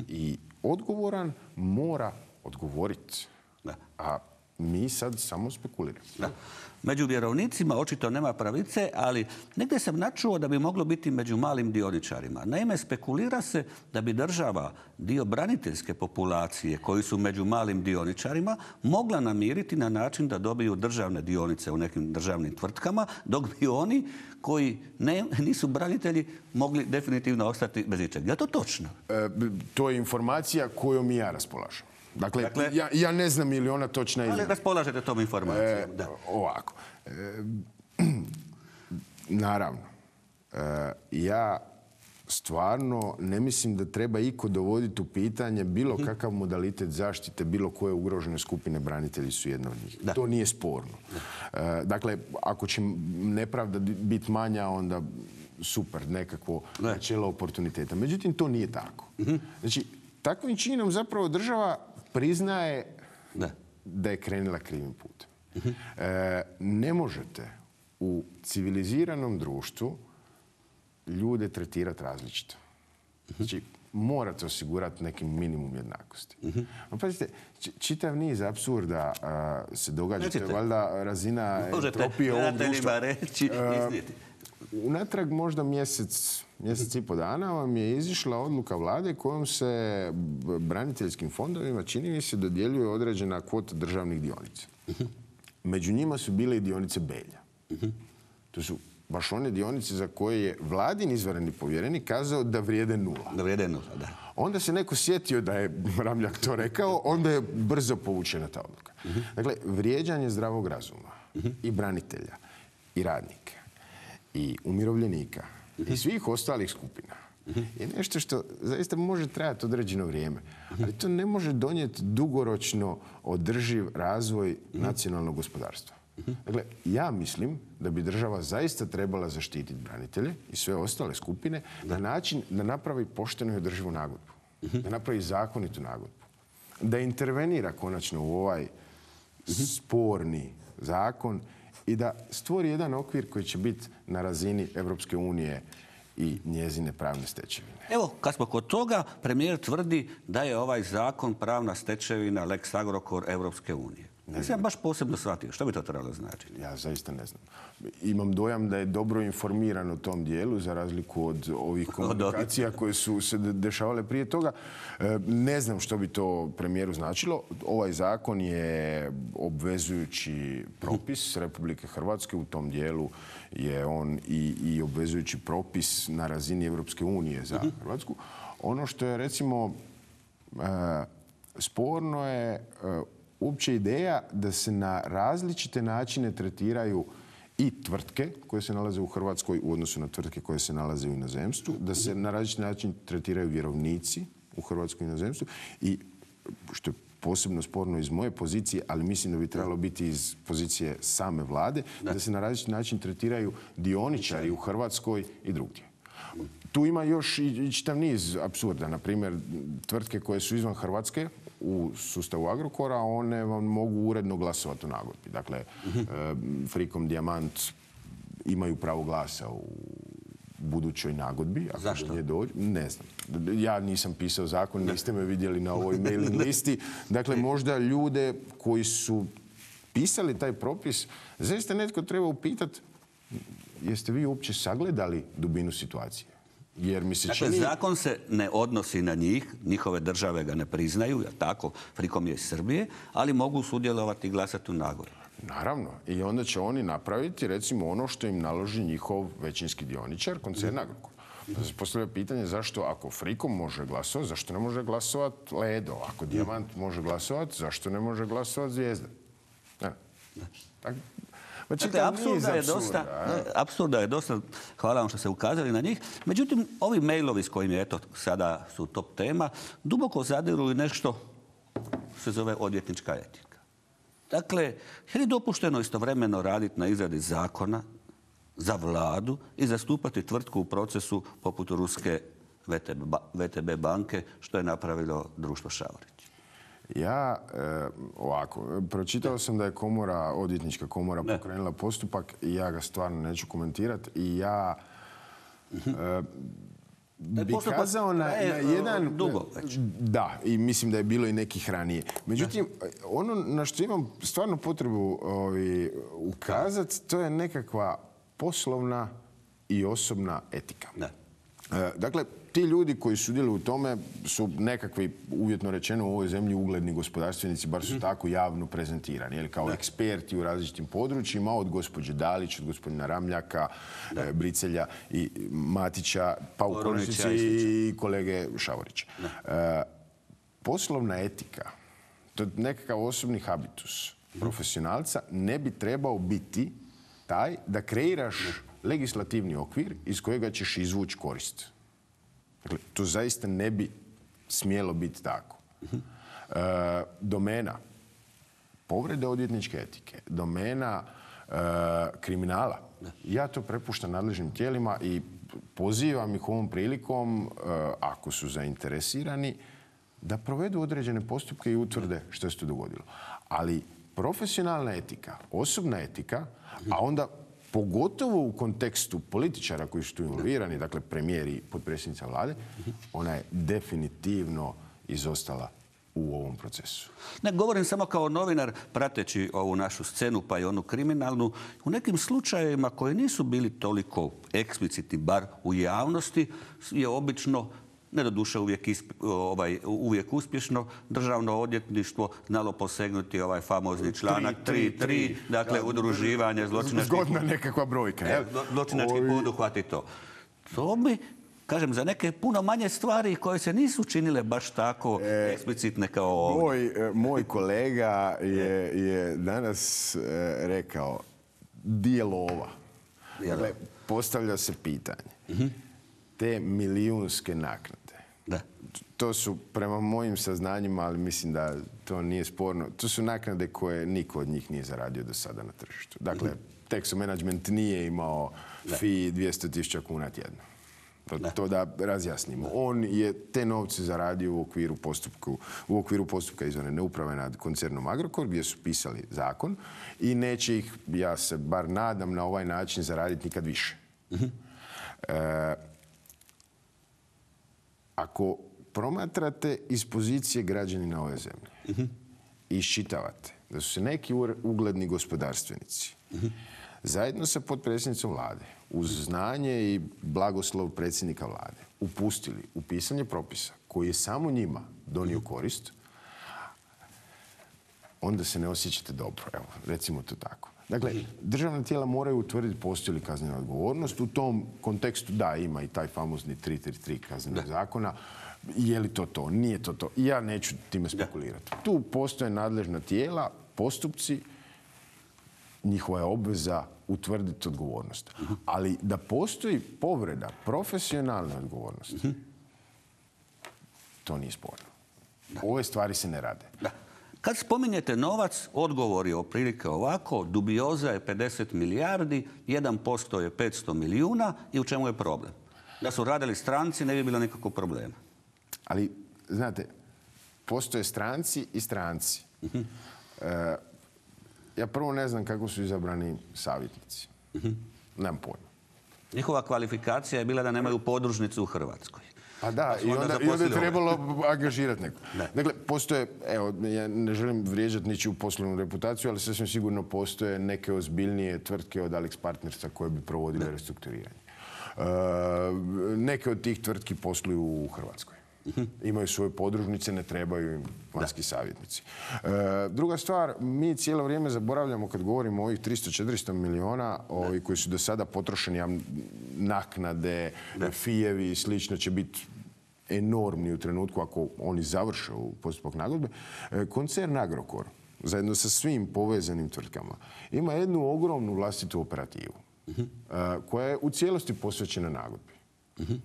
i odgovoran mora odgovoriti. Da. A mi sad samo spekuliramo. Da. Među vjerovnicima očito nema pravice, ali negdje sam načuo da bi moglo biti među malim dioničarima. Naime, spekulira se da bi država dio braniteljske populacije koji su među malim dioničarima mogla namiriti na način da dobiju državne dionice u nekim državnim tvrtkama, dok bi oni koji ne, nisu branitelji mogli definitivno ostati bez ičega. Je to točno? E, to je informacija kojom i ja raspolažem. Dakle, Dakle- ja, ja ne znam je li ona točna ili Ali ne. raspolažete tom informacijom. E, Da. ovako. E, naravno. E, ja stvarno ne mislim da treba iko dovoditi u pitanje bilo kakav modalitet zaštite bilo koje ugrožene skupine, branitelji su jedna od njih. Da. To nije sporno. E, dakle, ako će nepravda biti manja, onda super, nekakvo Ne. načelo oportuniteta. Međutim, to nije tako. Znači, takvim činom zapravo država priznaje Da. da je krenula krivim putem. E, ne možete u civiliziranom društvu ljude tretirati različito. Znači, morate osigurati neki minimum jednakosti. No, pazite, či- čitav niz apsurda a, se događa. To je Recite. valjda razina Možete entropije ovog gledateljima društva. reći, E, iznijeti. Unatrag možda mjesec, mjesec i po dana vam je izišla odluka vlade kojom se b- braniteljskim fondovima, čini mi se, dodjeljuje određena kvota državnih dionica. Među njima su bile i dionice Belja. To su baš one dionice za koje je vladin izvanredni povjerenik kazao da vrijede nula. Da vrijede nula, da. Onda se neko sjetio da je Ramljak to rekao, onda je brzo povučena ta odluka. Dakle, vrijeđanje zdravog razuma i branitelja i radnika i umirovljenika i svih ostalih skupina je nešto što zaista može trajati određeno vrijeme. Ali to ne može donijeti dugoročno održiv razvoj nacionalnog gospodarstva. Dakle, ja mislim da bi država zaista trebala zaštititi branitelje i sve ostale skupine na način da napravi poštenu i održivu nagodbu. Da napravi zakonitu nagodbu. Da intervenira konačno u ovaj sporni zakon i da stvori jedan okvir koji će biti na razini Europske unije i njezine pravne stečevine. Evo, kad smo kod toga, premijer tvrdi da je ovaj zakon pravna stečevina Lex Agrokor Europske unije. Nisam baš posebno shvatio. Što bi to trebalo značiti? Ja zaista ne znam. Imam dojam da je dobro informiran u tom dijelu, za razliku od ovih komunikacija koje su se de- dešavale prije toga. E, Ne znam što bi to premijeru značilo. Ovaj zakon je obvezujući propis Republike Hrvatske. U tom dijelu je on i, i obvezujući propis na razini Europske unije za Hrvatsku. Ono što je, recimo, e, sporno je e, uopće ideja da se na različite načine tretiraju i tvrtke koje se nalaze u Hrvatskoj u odnosu na tvrtke koje se nalaze u inozemstvu, da se na različiti način tretiraju vjerovnici u Hrvatskoj i inozemstvu i, što je posebno sporno iz moje pozicije, ali mislim da bi trebalo biti iz pozicije same vlade, da se na različiti način tretiraju dioničari u Hrvatskoj i drugdje. Tu ima još i i čitav niz apsurda. Na primjer, tvrtke koje su izvan Hrvatske u sustavu Agrokora, one vam mogu uredno glasovati u nagodbi. Dakle, e, Frikom Dijamant imaju pravo glasa u budućoj nagodbi. Ako Zašto? do nje dođe, ne znam. Ja nisam pisao zakon, niste me vidjeli na ovoj mailing listi. Dakle, možda ljude koji su pisali taj propis, zaista netko treba upitati jeste vi uopće sagledali dubinu situacije? Jer mi se Dakle, čini... zakon se ne odnosi na njih, njihove države ga ne priznaju, jer tako, Frikom je iz Srbije, ali mogu sudjelovati i glasati u nagodbi. Naravno. I onda će oni napraviti, recimo, ono što im naloži njihov većinski dioničar, koncern Agrokor. Da se postavlja pitanje zašto, ako Frikom može glasovati, zašto ne može glasovati Ledo? Ako Dijamant može glasovati, zašto ne može glasovati Zvijezda? Ne. Tako. Dakle, apsurda je dosta, apsurda je dosta, hvala vam što ste ukazali na njih. Međutim, ovi mailovi s kojim je, eto, sada su top tema, duboko zadiru i nešto se zove odvjetnička etika. Dakle, je li dopušteno istovremeno raditi na izradi zakona za vladu i zastupati tvrtku u procesu poput ruske V T B banke, što je napravilo društvo Šavorić? Ja, e, ovako, pročitao sam da je komora, odvjetnička komora ne. pokrenula postupak i ja ga stvarno neću komentirati i ja e, bi kazao na, na jedan... Dugo već. Da, i mislim da je bilo i nekih ranije. Međutim, ono na što imam stvarno potrebu ovi, ukazati, to je nekakva poslovna i osobna etika. Ne. E, dakle, ti ljudi koji sudjeluju u tome su nekakvi, uvjetno rečeno, u ovoj zemlji ugledni gospodarstvenici, bar su tako javno prezentirani, jel, kao eksperti u različitim područjima, od gospođe Dalić, od gospodina Ramljaka, e, Bricelja i Matića, pa u konačnici i kolege Šavorića. E, poslovna etika, to je nekakav osobni habitus profesionalca, ne bi trebao biti taj da kreiraš legislativni okvir iz kojega ćeš izvući korist. Dakle, to zaista ne bi smjelo biti tako. E, domena povrede odvjetničke etike, domena e, kriminala, ja to prepuštam nadležnim tijelima i pozivam ih ovom prilikom, e, ako su zainteresirani, da provedu određene postupke i utvrde što se to dogodilo. Ali profesionalna etika, osobna etika, a onda pogotovo u kontekstu političara koji su tu involvirani, dakle premijer i potpredsjednica vlade, ona je definitivno izostala u ovom procesu. Ne govorim samo kao novinar prateći ovu našu scenu pa i onu kriminalnu. U nekim slučajevima koji nisu bili toliko eksplicitni, bar u javnosti, je obično, ne doduše uvijek, ovaj, uvijek uspješno, državno odvjetništvo znalo posegnuti ovaj famozni članak tri tri, dakle udruživanje zločinačkih... Zgodna nekakva brojka. E, zločinački poduhvat i to. To bi, kažem, za neke puno manje stvari koje se nisu činile baš tako e, eksplicitne kao ovdje. Moj, moj kolega je, je danas e, rekao di je lova. Dakle, postavlja se pitanje. Uh-huh. Te milijunske naknade. Da. To su, prema mojim saznanjima, ali mislim da to nije sporno, to su naknade koje niko od njih nije zaradio do sada na tržištu. Dakle, mm-hmm. Texo Management nije imao da. Fee dvjesto tisuća kuna tjedno. To da. to da razjasnimo. Da. On je te novce zaradio u okviru, postupku, u okviru postupka izvanredne uprave nad koncernom Agrokor, gdje su pisali zakon i neće ih, ja se bar nadam, na ovaj način zaraditi nikad više. Mm-hmm. E, Ako promatrate iz pozicije građanina ove zemlje uh-huh. i iščitavate da su se neki ugledni gospodarstvenici uh-huh. zajedno sa potpredsjednicom vlade uz znanje i blagoslov predsjednika vlade upustili u pisanje propisa koji je samo njima donio korist, onda se ne osjećate dobro. Evo, recimo to tako. Dakle, državna tijela moraju utvrditi postoji li kaznena odgovornost. U tom kontekstu, da, ima i taj famozni tri tri tri kaznenog zakona. Je li to to? Nije to to. Ja neću time spekulirati. Da. Tu postoje nadležna tijela, postupci, njihova je obveza utvrditi odgovornost. Uh-huh. Ali da postoji povreda profesionalne odgovornosti, uh-huh. to nije sporno. Da. Ove stvari se ne rade. Da. Kad spominjete novac, odgovor je otprilike ovako, dubioza je pedeset milijardi, jedan posto je petsto milijuna i u čemu je problem? Da su radili stranci, ne bi bilo nikakvog problema. Ali, znate, postoje stranci i stranci. Uh-huh. E, ja prvo ne znam kako su izabrani savjetnici. Uh-huh. Nemam pojma. Njihova kvalifikacija je bila da nemaju podružnicu u Hrvatskoj. A da, i onda, i onda je trebalo angažirati neko. Dakle, postoje, evo, ja ne želim vrijeđati ničiju poslovnu reputaciju, ali sasvim sigurno postoje neke ozbiljnije tvrtke od Alex Partnersa koje bi provodile restrukturiranje. E, neke od tih tvrtki posluju u Hrvatskoj. Imaju svoje podružnice, ne trebaju im vanjski savjetnici. E, druga stvar, mi cijelo vrijeme zaboravljamo kad govorimo o ovih tristo četiristo milijuna ovi koji su do sada potrošeni, naknade, fijevi i slično će biti enormni u trenutku ako oni završe u postupak nagodbe. E, koncern Agrokor, zajedno sa svim povezanim tvrtkama, ima jednu ogromnu vlastitu operativu uh-huh. e, koja je u cijelosti posvećena nagodbi. Uh-huh.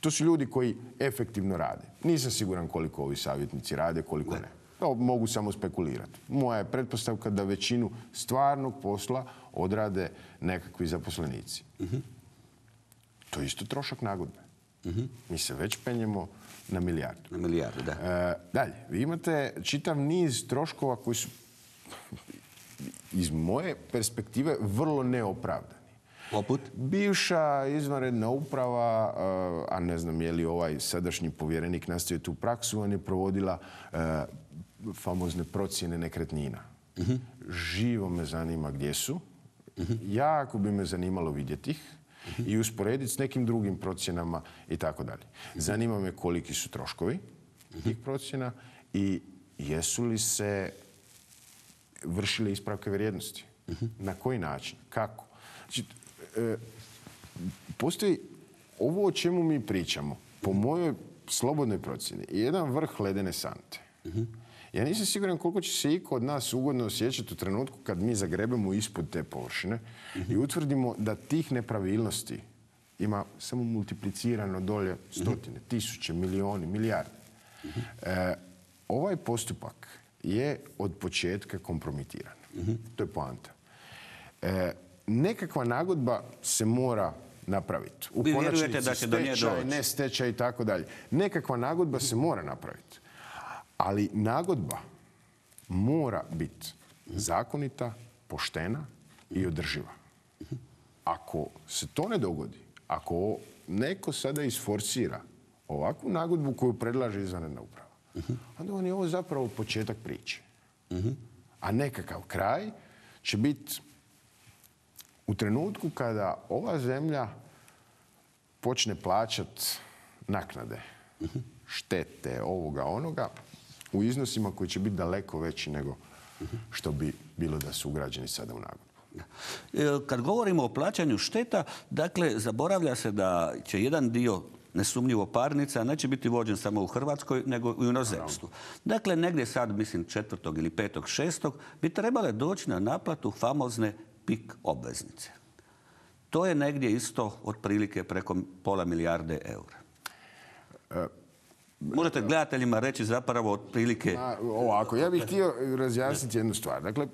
To su ljudi koji efektivno rade. Nisam siguran koliko ovi savjetnici rade, koliko ne. To mogu samo spekulirati. Moja je pretpostavka da većinu stvarnog posla odrade nekakvi zaposlenici. Uh-huh. To je isto trošak nagodbe. Uh-huh. Mi se već penjemo na milijardu. Na milijardu, da. E, dalje, vi imate čitav niz troškova koji su iz moje perspektive vrlo neopravdani. Poput? Bivša izvanredna uprava, a ne znam je li ovaj sadašnji povjerenik nastavio tu praksu, on je provodila uh, famozne procjene nekretnina. Uh-huh. Živo me zanima gdje su. Uh-huh. Jako bi me zanimalo vidjeti ih uh-huh. i usporediti s nekim drugim procjenama i tako dalje. Zanima me koliki su troškovi uh-huh. tih procjena i jesu li se vršile ispravke vrijednosti. Uh-huh. Na koji način? Kako? Znači, e, postoji ovo o čemu mi pričamo, po mojoj slobodnoj procjeni, jedan vrh ledene sante. Uh-huh. Ja nisam siguran koliko će se iko od nas ugodno osjećati u trenutku kad mi zagrebemo ispod te površine uh-huh. i utvrdimo da tih nepravilnosti ima samo multiplicirano dolje stotine, uh-huh. tisuće, milioni, milijarde. Uh-huh. E, ovaj postupak je od početka kompromitiran. Uh-huh. To je poanta. E, nekakva nagodba se mora napraviti. U Vi konačnici vjerujete da će do nje stečaj, doći? ne stečaj i tako dalje. Nekakva nagodba se mora napraviti. Ali nagodba mora biti zakonita, poštena i održiva. Ako se to ne dogodi, ako neko sada isforsira ovakvu nagodbu koju predlaže izvanredna uprava, onda on je ovo zapravo početak priče. A nekakav kraj će biti u trenutku kada ova zemlja počne plaćati naknade, štete, ovoga, onoga, u iznosima koji će biti daleko veći nego što bi bilo da su ugrađeni sada u nagodbu. Kad govorimo o plaćanju šteta, dakle, zaboravlja se da će jedan dio nesumnjivo parnica neće biti vođen samo u Hrvatskoj, nego i u inozemstvu. Dakle, negdje sad, mislim, četvrtog ili petog, šestog, bi trebale doći na naplatu famozne pik obveznice. To je negdje isto otprilike preko pola milijarde eura. E, Možete gledateljima reći zapravo otprilike... Ovako, ja bih htio razjasniti jednu stvar. Dakle,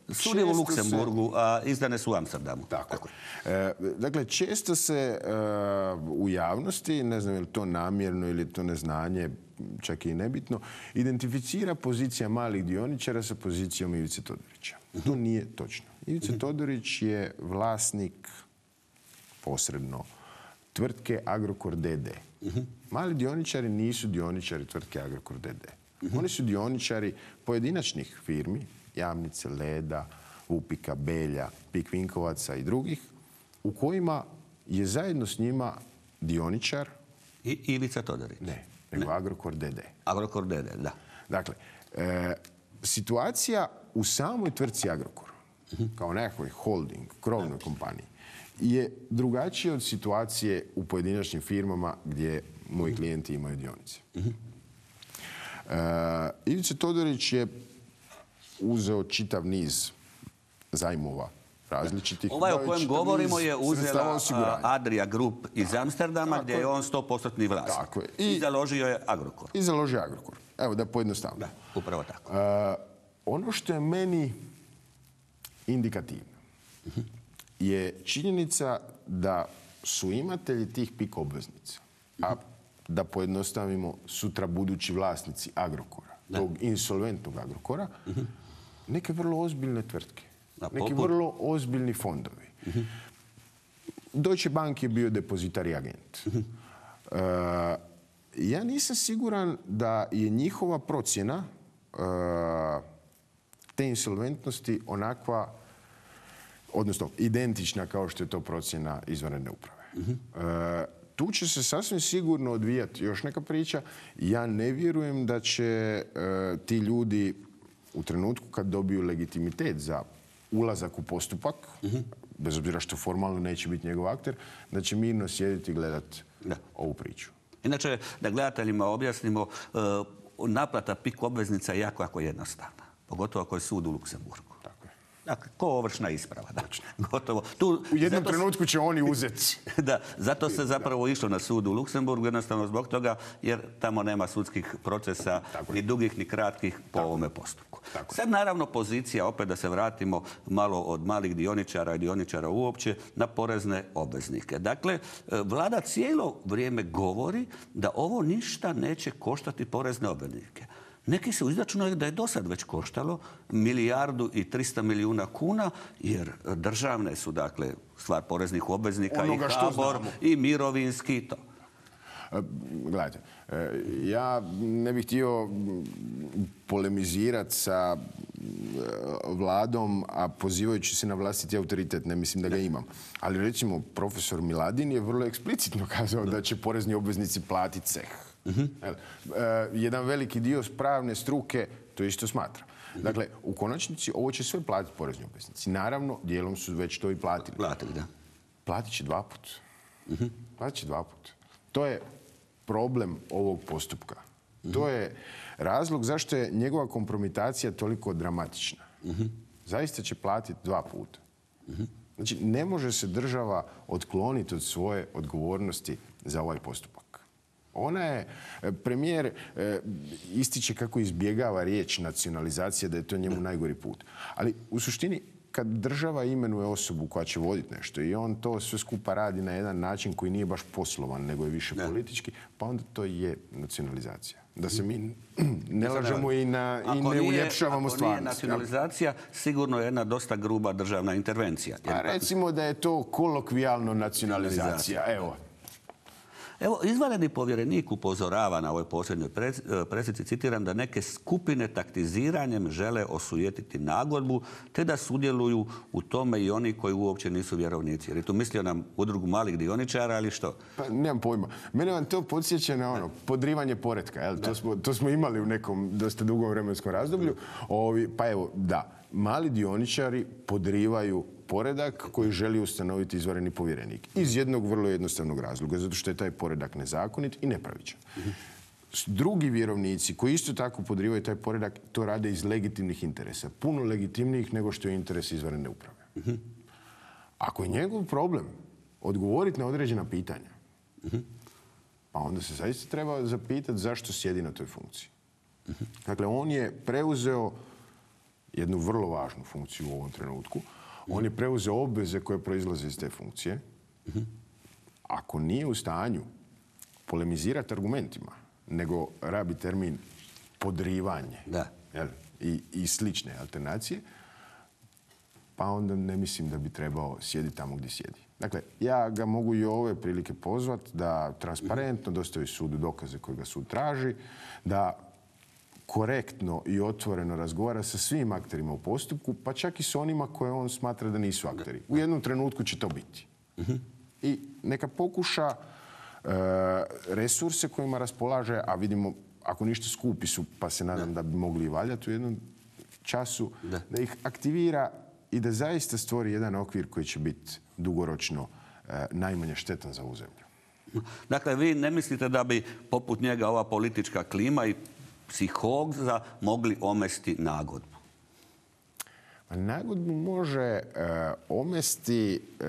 sud je u Luksemburgu, se... a izdane su u Amsterdamu. Tako. Tako. E, dakle, često se uh, u javnosti, ne znam je li to namjerno ili to neznanje, čak i nebitno, identificira pozicija malih dioničara sa pozicijom Ivice Todorića. Uh-huh. To nije točno. Ivica uh-huh. Todorić je vlasnik posredno tvrtke Agrokor D D. Uh-huh. Mali dioničari nisu dioničari tvrtke Agrokor D D. Uh-huh. Oni su dioničari pojedinačnih firmi, Jamnice, Leda, Vupika, Belja, Pik Vinkovaca i drugih, u kojima je zajedno s njima dioničar... I Ivica Todorić. Ne, nego ne. Agrokor D D. Agrokor D D, da. Dakle, e, situacija u samoj tvrtci Agrokor, uh-huh. kao nekakvoj holding, krovnoj da. kompaniji, je drugačije od situacije u pojedinačnim firmama gdje moji klijenti imaju dionice. Uh-huh. E, Ivica Todorić je uzeo čitav niz zajmova različitih. Ovaj o kojem govorimo je uzela Adria Group iz Amsterdama, gdje je on sto posto vlasnik. Tako je. I, I založio je Agrokor. I založio Agrokor. Evo da pojednostavno. Da, upravo tako. E, ono što je meni indikativno uh-huh. je činjenica da su imatelji tih pik obveznica, uh-huh. a da pojednostavimo sutra budući vlasnici Agrokora, da. tog insolventnog Agrokora, uh-huh. neke vrlo ozbiljne tvrtke, da, neki vrlo ozbiljni fondovi. Uh-huh. Deutsche Bank je bio depozitari agent. Uh, ja nisam siguran da je njihova procjena uh, te insolventnosti onakva, odnosno identična kao što je to procjena izvanredne uprave. Uh-huh. Uh, tu će se sasvim sigurno odvijati još neka priča. Ja ne vjerujem da će uh, ti ljudi u trenutku kad dobiju legitimitet za ulazak u postupak, uh-huh. bez obzira što formalno neće biti njegov akter, da će mirno sjediti i gledati ovu priču. Inače, da gledateljima objasnimo, uh, naplata pik obveznica je jako, jako jednostavna. Pogotovo ako je sud u Luksemburgu. Tako je. Dakle, ko ovršna isprava. Dakle, gotovo. Tu, u jednom zato, trenutku će oni uzeti. Da, zato se zapravo išlo na sud u Luksemburgu, jednostavno zbog toga, jer tamo nema sudskih procesa, ni dugih, ni kratkih po Tako. ovome postupku. Tako. Sad naravno pozicija, opet da se vratimo malo od malih dioničara i dioničara uopće, na porezne obveznike. Dakle, vlada cijelo vrijeme govori da ovo ništa neće koštati porezne obveznike. Neki su izračunali da je do sad već koštalo milijardu i trista milijuna kuna, jer državne su, dakle, stvar poreznih obveznika Onoga i HBOR i mirovinski i to. Gledajte, ja ne bih htio polemizirati sa vladom, a pozivajući se na vlastiti autoritet, ne mislim da ga imam. Ali recimo, profesor Miladin je vrlo eksplicitno kazao da će porezni obveznici platiti ceh. Uh-huh. Jedan veliki dio pravne struke to isto smatra. Uh-huh. Dakle, u konačnici ovo će sve platiti porezni obveznici. Naravno, dijelom su već to i platili. Platili, da. Platit će dva put. Uh-huh. Platit će dva put. To je problem ovog postupka. Uh-huh. To je razlog zašto je njegova kompromitacija toliko dramatična. Uh-huh. Zaista će platiti dva puta. Uh-huh. Znači, ne može se država otkloniti od svoje odgovornosti za ovaj postupak. Ona je, premijer e, ističe kako izbjegava riječ nacionalizacija, da je to njemu najgori put. Ali u suštini, kad država imenuje osobu koja će voditi nešto i on to sve skupa radi na jedan način koji nije baš poslovan, nego je više ne. politički, pa onda to je nacionalizacija. Da se mi ne lažemo i, na, i ne nije, uljepšavamo stvarnost. Ako nije nacionalizacija, sigurno je jedna dosta gruba državna intervencija. A recimo da je to kolokvijalno nacionalizacija. Evo. Evo, izvanredni povjerenik upozorava na ovoj posljednjoj presici, citiram, da neke skupine taktiziranjem žele osujetiti nagodbu, te da sudjeluju u tome i oni koji uopće nisu vjerovnici. Jer je tu mislio nam udrugu malih dioničara, ali što? Pa nemam pojma. Mene vam to podsjeća na ono, podrivanje poretka. Jel? To, smo, to smo imali u nekom dosta dugom vremenskom razdoblju. Ovi, pa evo, da, mali dioničari podrivaju poredak koji želi ustanoviti izvanredni povjerenik. Iz jednog vrlo jednostavnog razloga, zato što je taj poredak nezakonit i nepravičan. Drugi vjerovnici koji isto tako podrivaju taj poredak, to rade iz legitimnih interesa. Puno legitimnijih nego što je interes izvanredne uprave. Ako je njegov problem odgovoriti na određena pitanja, pa onda se zaista treba zapitati zašto sjedi na toj funkciji. Dakle, on je preuzeo jednu vrlo važnu funkciju u ovom trenutku. On je preuzeo obveze koje proizlaze iz te funkcije. Ako nije u stanju polemizirati argumentima, nego rabi termin podrivanje da. Jel, i, i slične alternacije, pa onda ne mislim da bi trebao sjediti tamo gdje sjedi. Dakle, ja ga mogu i ove prilike pozvati da transparentno dostavi sudu dokaze koje ga sud traži, da korektno i otvoreno razgovara sa svim akterima u postupku, pa čak i s onima koje on smatra da nisu akteri. U jednom trenutku će to biti. Uh-huh. I neka pokuša e, resurse kojima raspolaže, a vidimo, ako ništa skupi su, pa se nadam da, da bi mogli i valjati u jednom času, da. da ih aktivira i da zaista stvori jedan okvir koji će biti dugoročno e, najmanje štetan za ovu zemlju. Dakle, vi ne mislite da bi poput njega ova politička klima i psihoza mogli omesti nagodbu? Nagodbu može uh, omesti uh,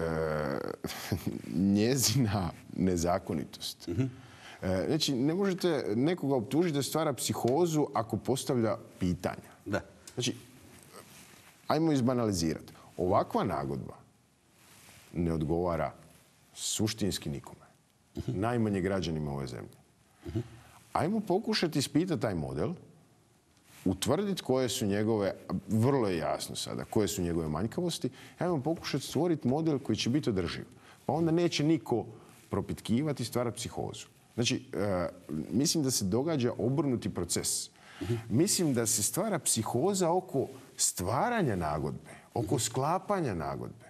njezina nezakonitost. Uh-huh. uh, znači, ne možete nekoga optužiti da stvara psihozu ako postavlja pitanja. Da. Znači, ajmo izbanalizirati. Ovakva nagodba ne odgovara suštinski nikome. Uh-huh. Najmanje građanima ove zemlje. Uh-huh. Ajmo pokušati ispitati taj model, utvrditi koje su njegove, vrlo je jasno sada, koje su njegove manjkavosti, ajmo pokušati stvoriti model koji će biti održiv. Pa onda neće niko propitkivati i stvarati psihozu. Znači, e, mislim da se događa obrnuti proces. Mislim da se stvara psihoza oko stvaranja nagodbe, oko sklapanja nagodbe.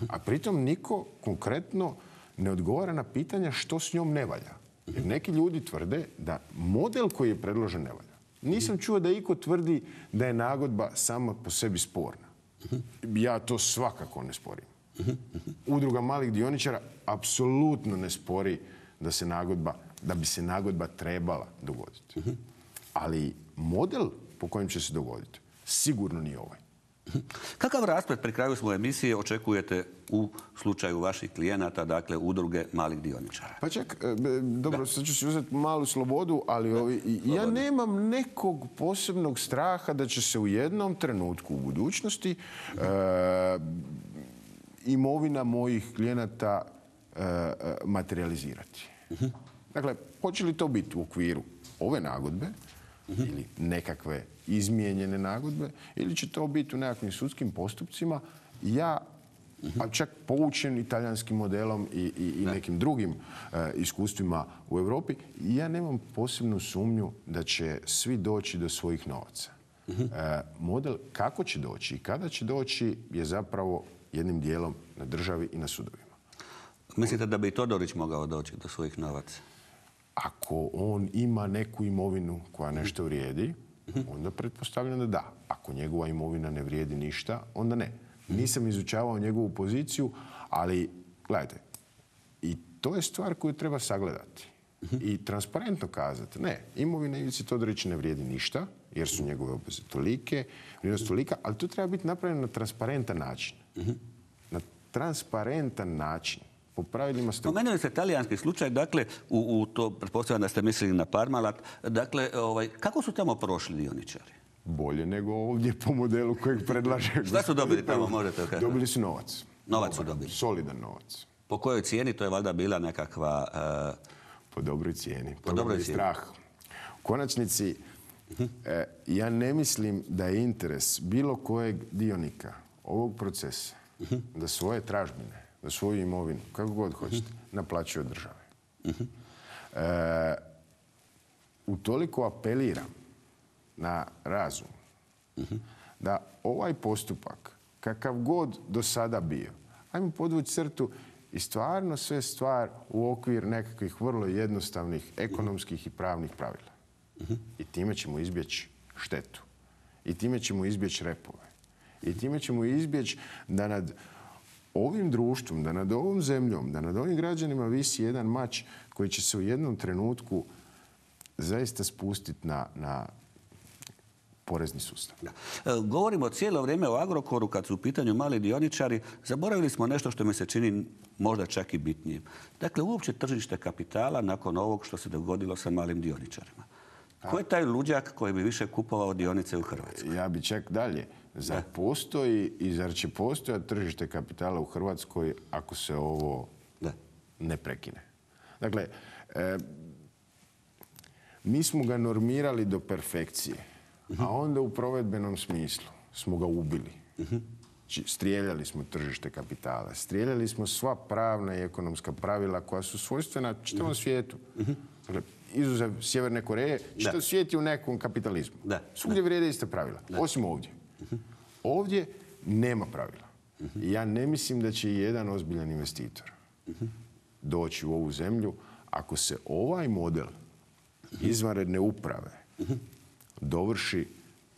A pritom niko konkretno ne odgovara na pitanja što s njom ne valja. Jer neki ljudi tvrde da model koji je predložen ne valja. Nisam čuo da iko tvrdi da je nagodba sama po sebi sporna. Ja to svakako ne sporim. Udruga malih dioničara apsolutno ne spori da se nagodba, da bi se nagodba trebala dogoditi. Ali model po kojem će se dogoditi sigurno nije ovaj. Kakav rasplet pri kraju svoje emisije očekujete u slučaju vaših klijenata, dakle udruge malih dioničara? Pa čak, e, dobro, sad ću si uzeti malu slobodu, ali ovi, ja nemam nekog posebnog straha da će se u jednom trenutku u budućnosti e, imovina mojih klijenata e, materializirati. Dakle, hoće li to biti u okviru ove nagodbe ili nekakve izmijenjene nagodbe, ili će to biti u nekakvim sudskim postupcima. Ja, a čak poučen italijanskim modelom i, i, i nekim drugim e, iskustvima u Europi, ja nemam posebnu sumnju da će svi doći do svojih novaca. E, model kako će doći i kada će doći je zapravo jednim dijelom na državi i na sudovima. Mislite da bi i Todorić mogao doći do svojih novaca? Ako on ima neku imovinu koja nešto vrijedi, onda pretpostavljam da da. Ako njegova imovina ne vrijedi ništa, onda ne. Nisam izučavao njegovu poziciju, ali gledajte, i to je stvar koju treba sagledati. I transparentno kazati, ne, imovina Ivice Todorića ne vrijedi ništa, jer su njegove obveze tolike, vrijednost tolika, ali to treba biti napravljeno na transparentan način. Na transparentan način. Po pravilima ste... Spomenuli ste talijanski slučaj, dakle, u, u to, pretpostavljam da ste mislili na Parmalat, dakle, ovaj, kako su tamo prošli dioničari? Bolje nego ovdje po modelu kojeg predlaže... Šta su dobili tamo, možete kazati? Dobili su novac. Novac su dobili? Solidan novac. Po kojoj cijeni? To je valjda bila nekakva... Uh... Po dobroj cijeni. Po dobroj cijeni. Strah. U konačnici, e, ja ne mislim da je interes bilo kojeg dionika ovog procesa da svoje tražbine, da svoju imovinu, kako god hoćete, naplaćuje od države. E, utoliko apeliram na razum da ovaj postupak, kakav god do sada bio, ajmo podvući crtu i stvarno sve stvar u okvir nekakvih vrlo jednostavnih ekonomskih i pravnih pravila. I time ćemo izbjeći štetu. I time ćemo izbjeći repove. I time ćemo izbjeći da nad ovim društvom, da nad ovom zemljom, da nad ovim građanima visi jedan mač koji će se u jednom trenutku zaista spustiti na, na porezni sustav. Da. E, govorimo cijelo vrijeme o Agrokoru kad su u pitanju mali dioničari. Zaboravili smo nešto što mi se čini možda čak i bitnijim. Dakle, uopće tržište kapitala nakon ovog što se dogodilo sa malim dioničarima. Ko je taj luđak koji bi više kupovao dionice u Hrvatskoj? Ja bi čak dalje. Zar postoji i zar će postojati tržište kapitala u Hrvatskoj ako se ovo da. ne prekine? Dakle, e, mi smo ga normirali do perfekcije, a onda u provedbenom smislu smo ga ubili. Strijeljali smo tržište kapitala, strijeljali smo sva pravna i ekonomska pravila koja su svojstvena čitavom svijetu. Dakle, izuzev Sjeverne Koreje, čitav svijet je u nekom kapitalizmu. Da. Svugdje vrijede iste pravila, da. osim ovdje. Ovdje nema pravila. I ja ne mislim da će i jedan ozbiljan investitor doći u ovu zemlju ako se ovaj model izvanredne uprave dovrši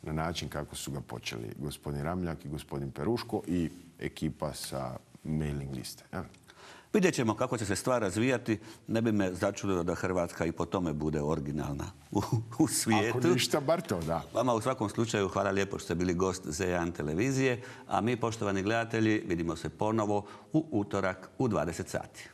na način kako su ga počeli gospodin Ramljak i gospodin Peruško i ekipa sa mailing liste. Ja. Vidjet ćemo kako će se stvar razvijati. Ne bi me začudilo da Hrvatska i po tome bude originalna u, u svijetu. Ako ništa, bar to, da. Vama u svakom slučaju hvala lijepo što ste bili gost Z jedan televizije. A mi, poštovani gledatelji, vidimo se ponovo u utorak u dvadeset sati.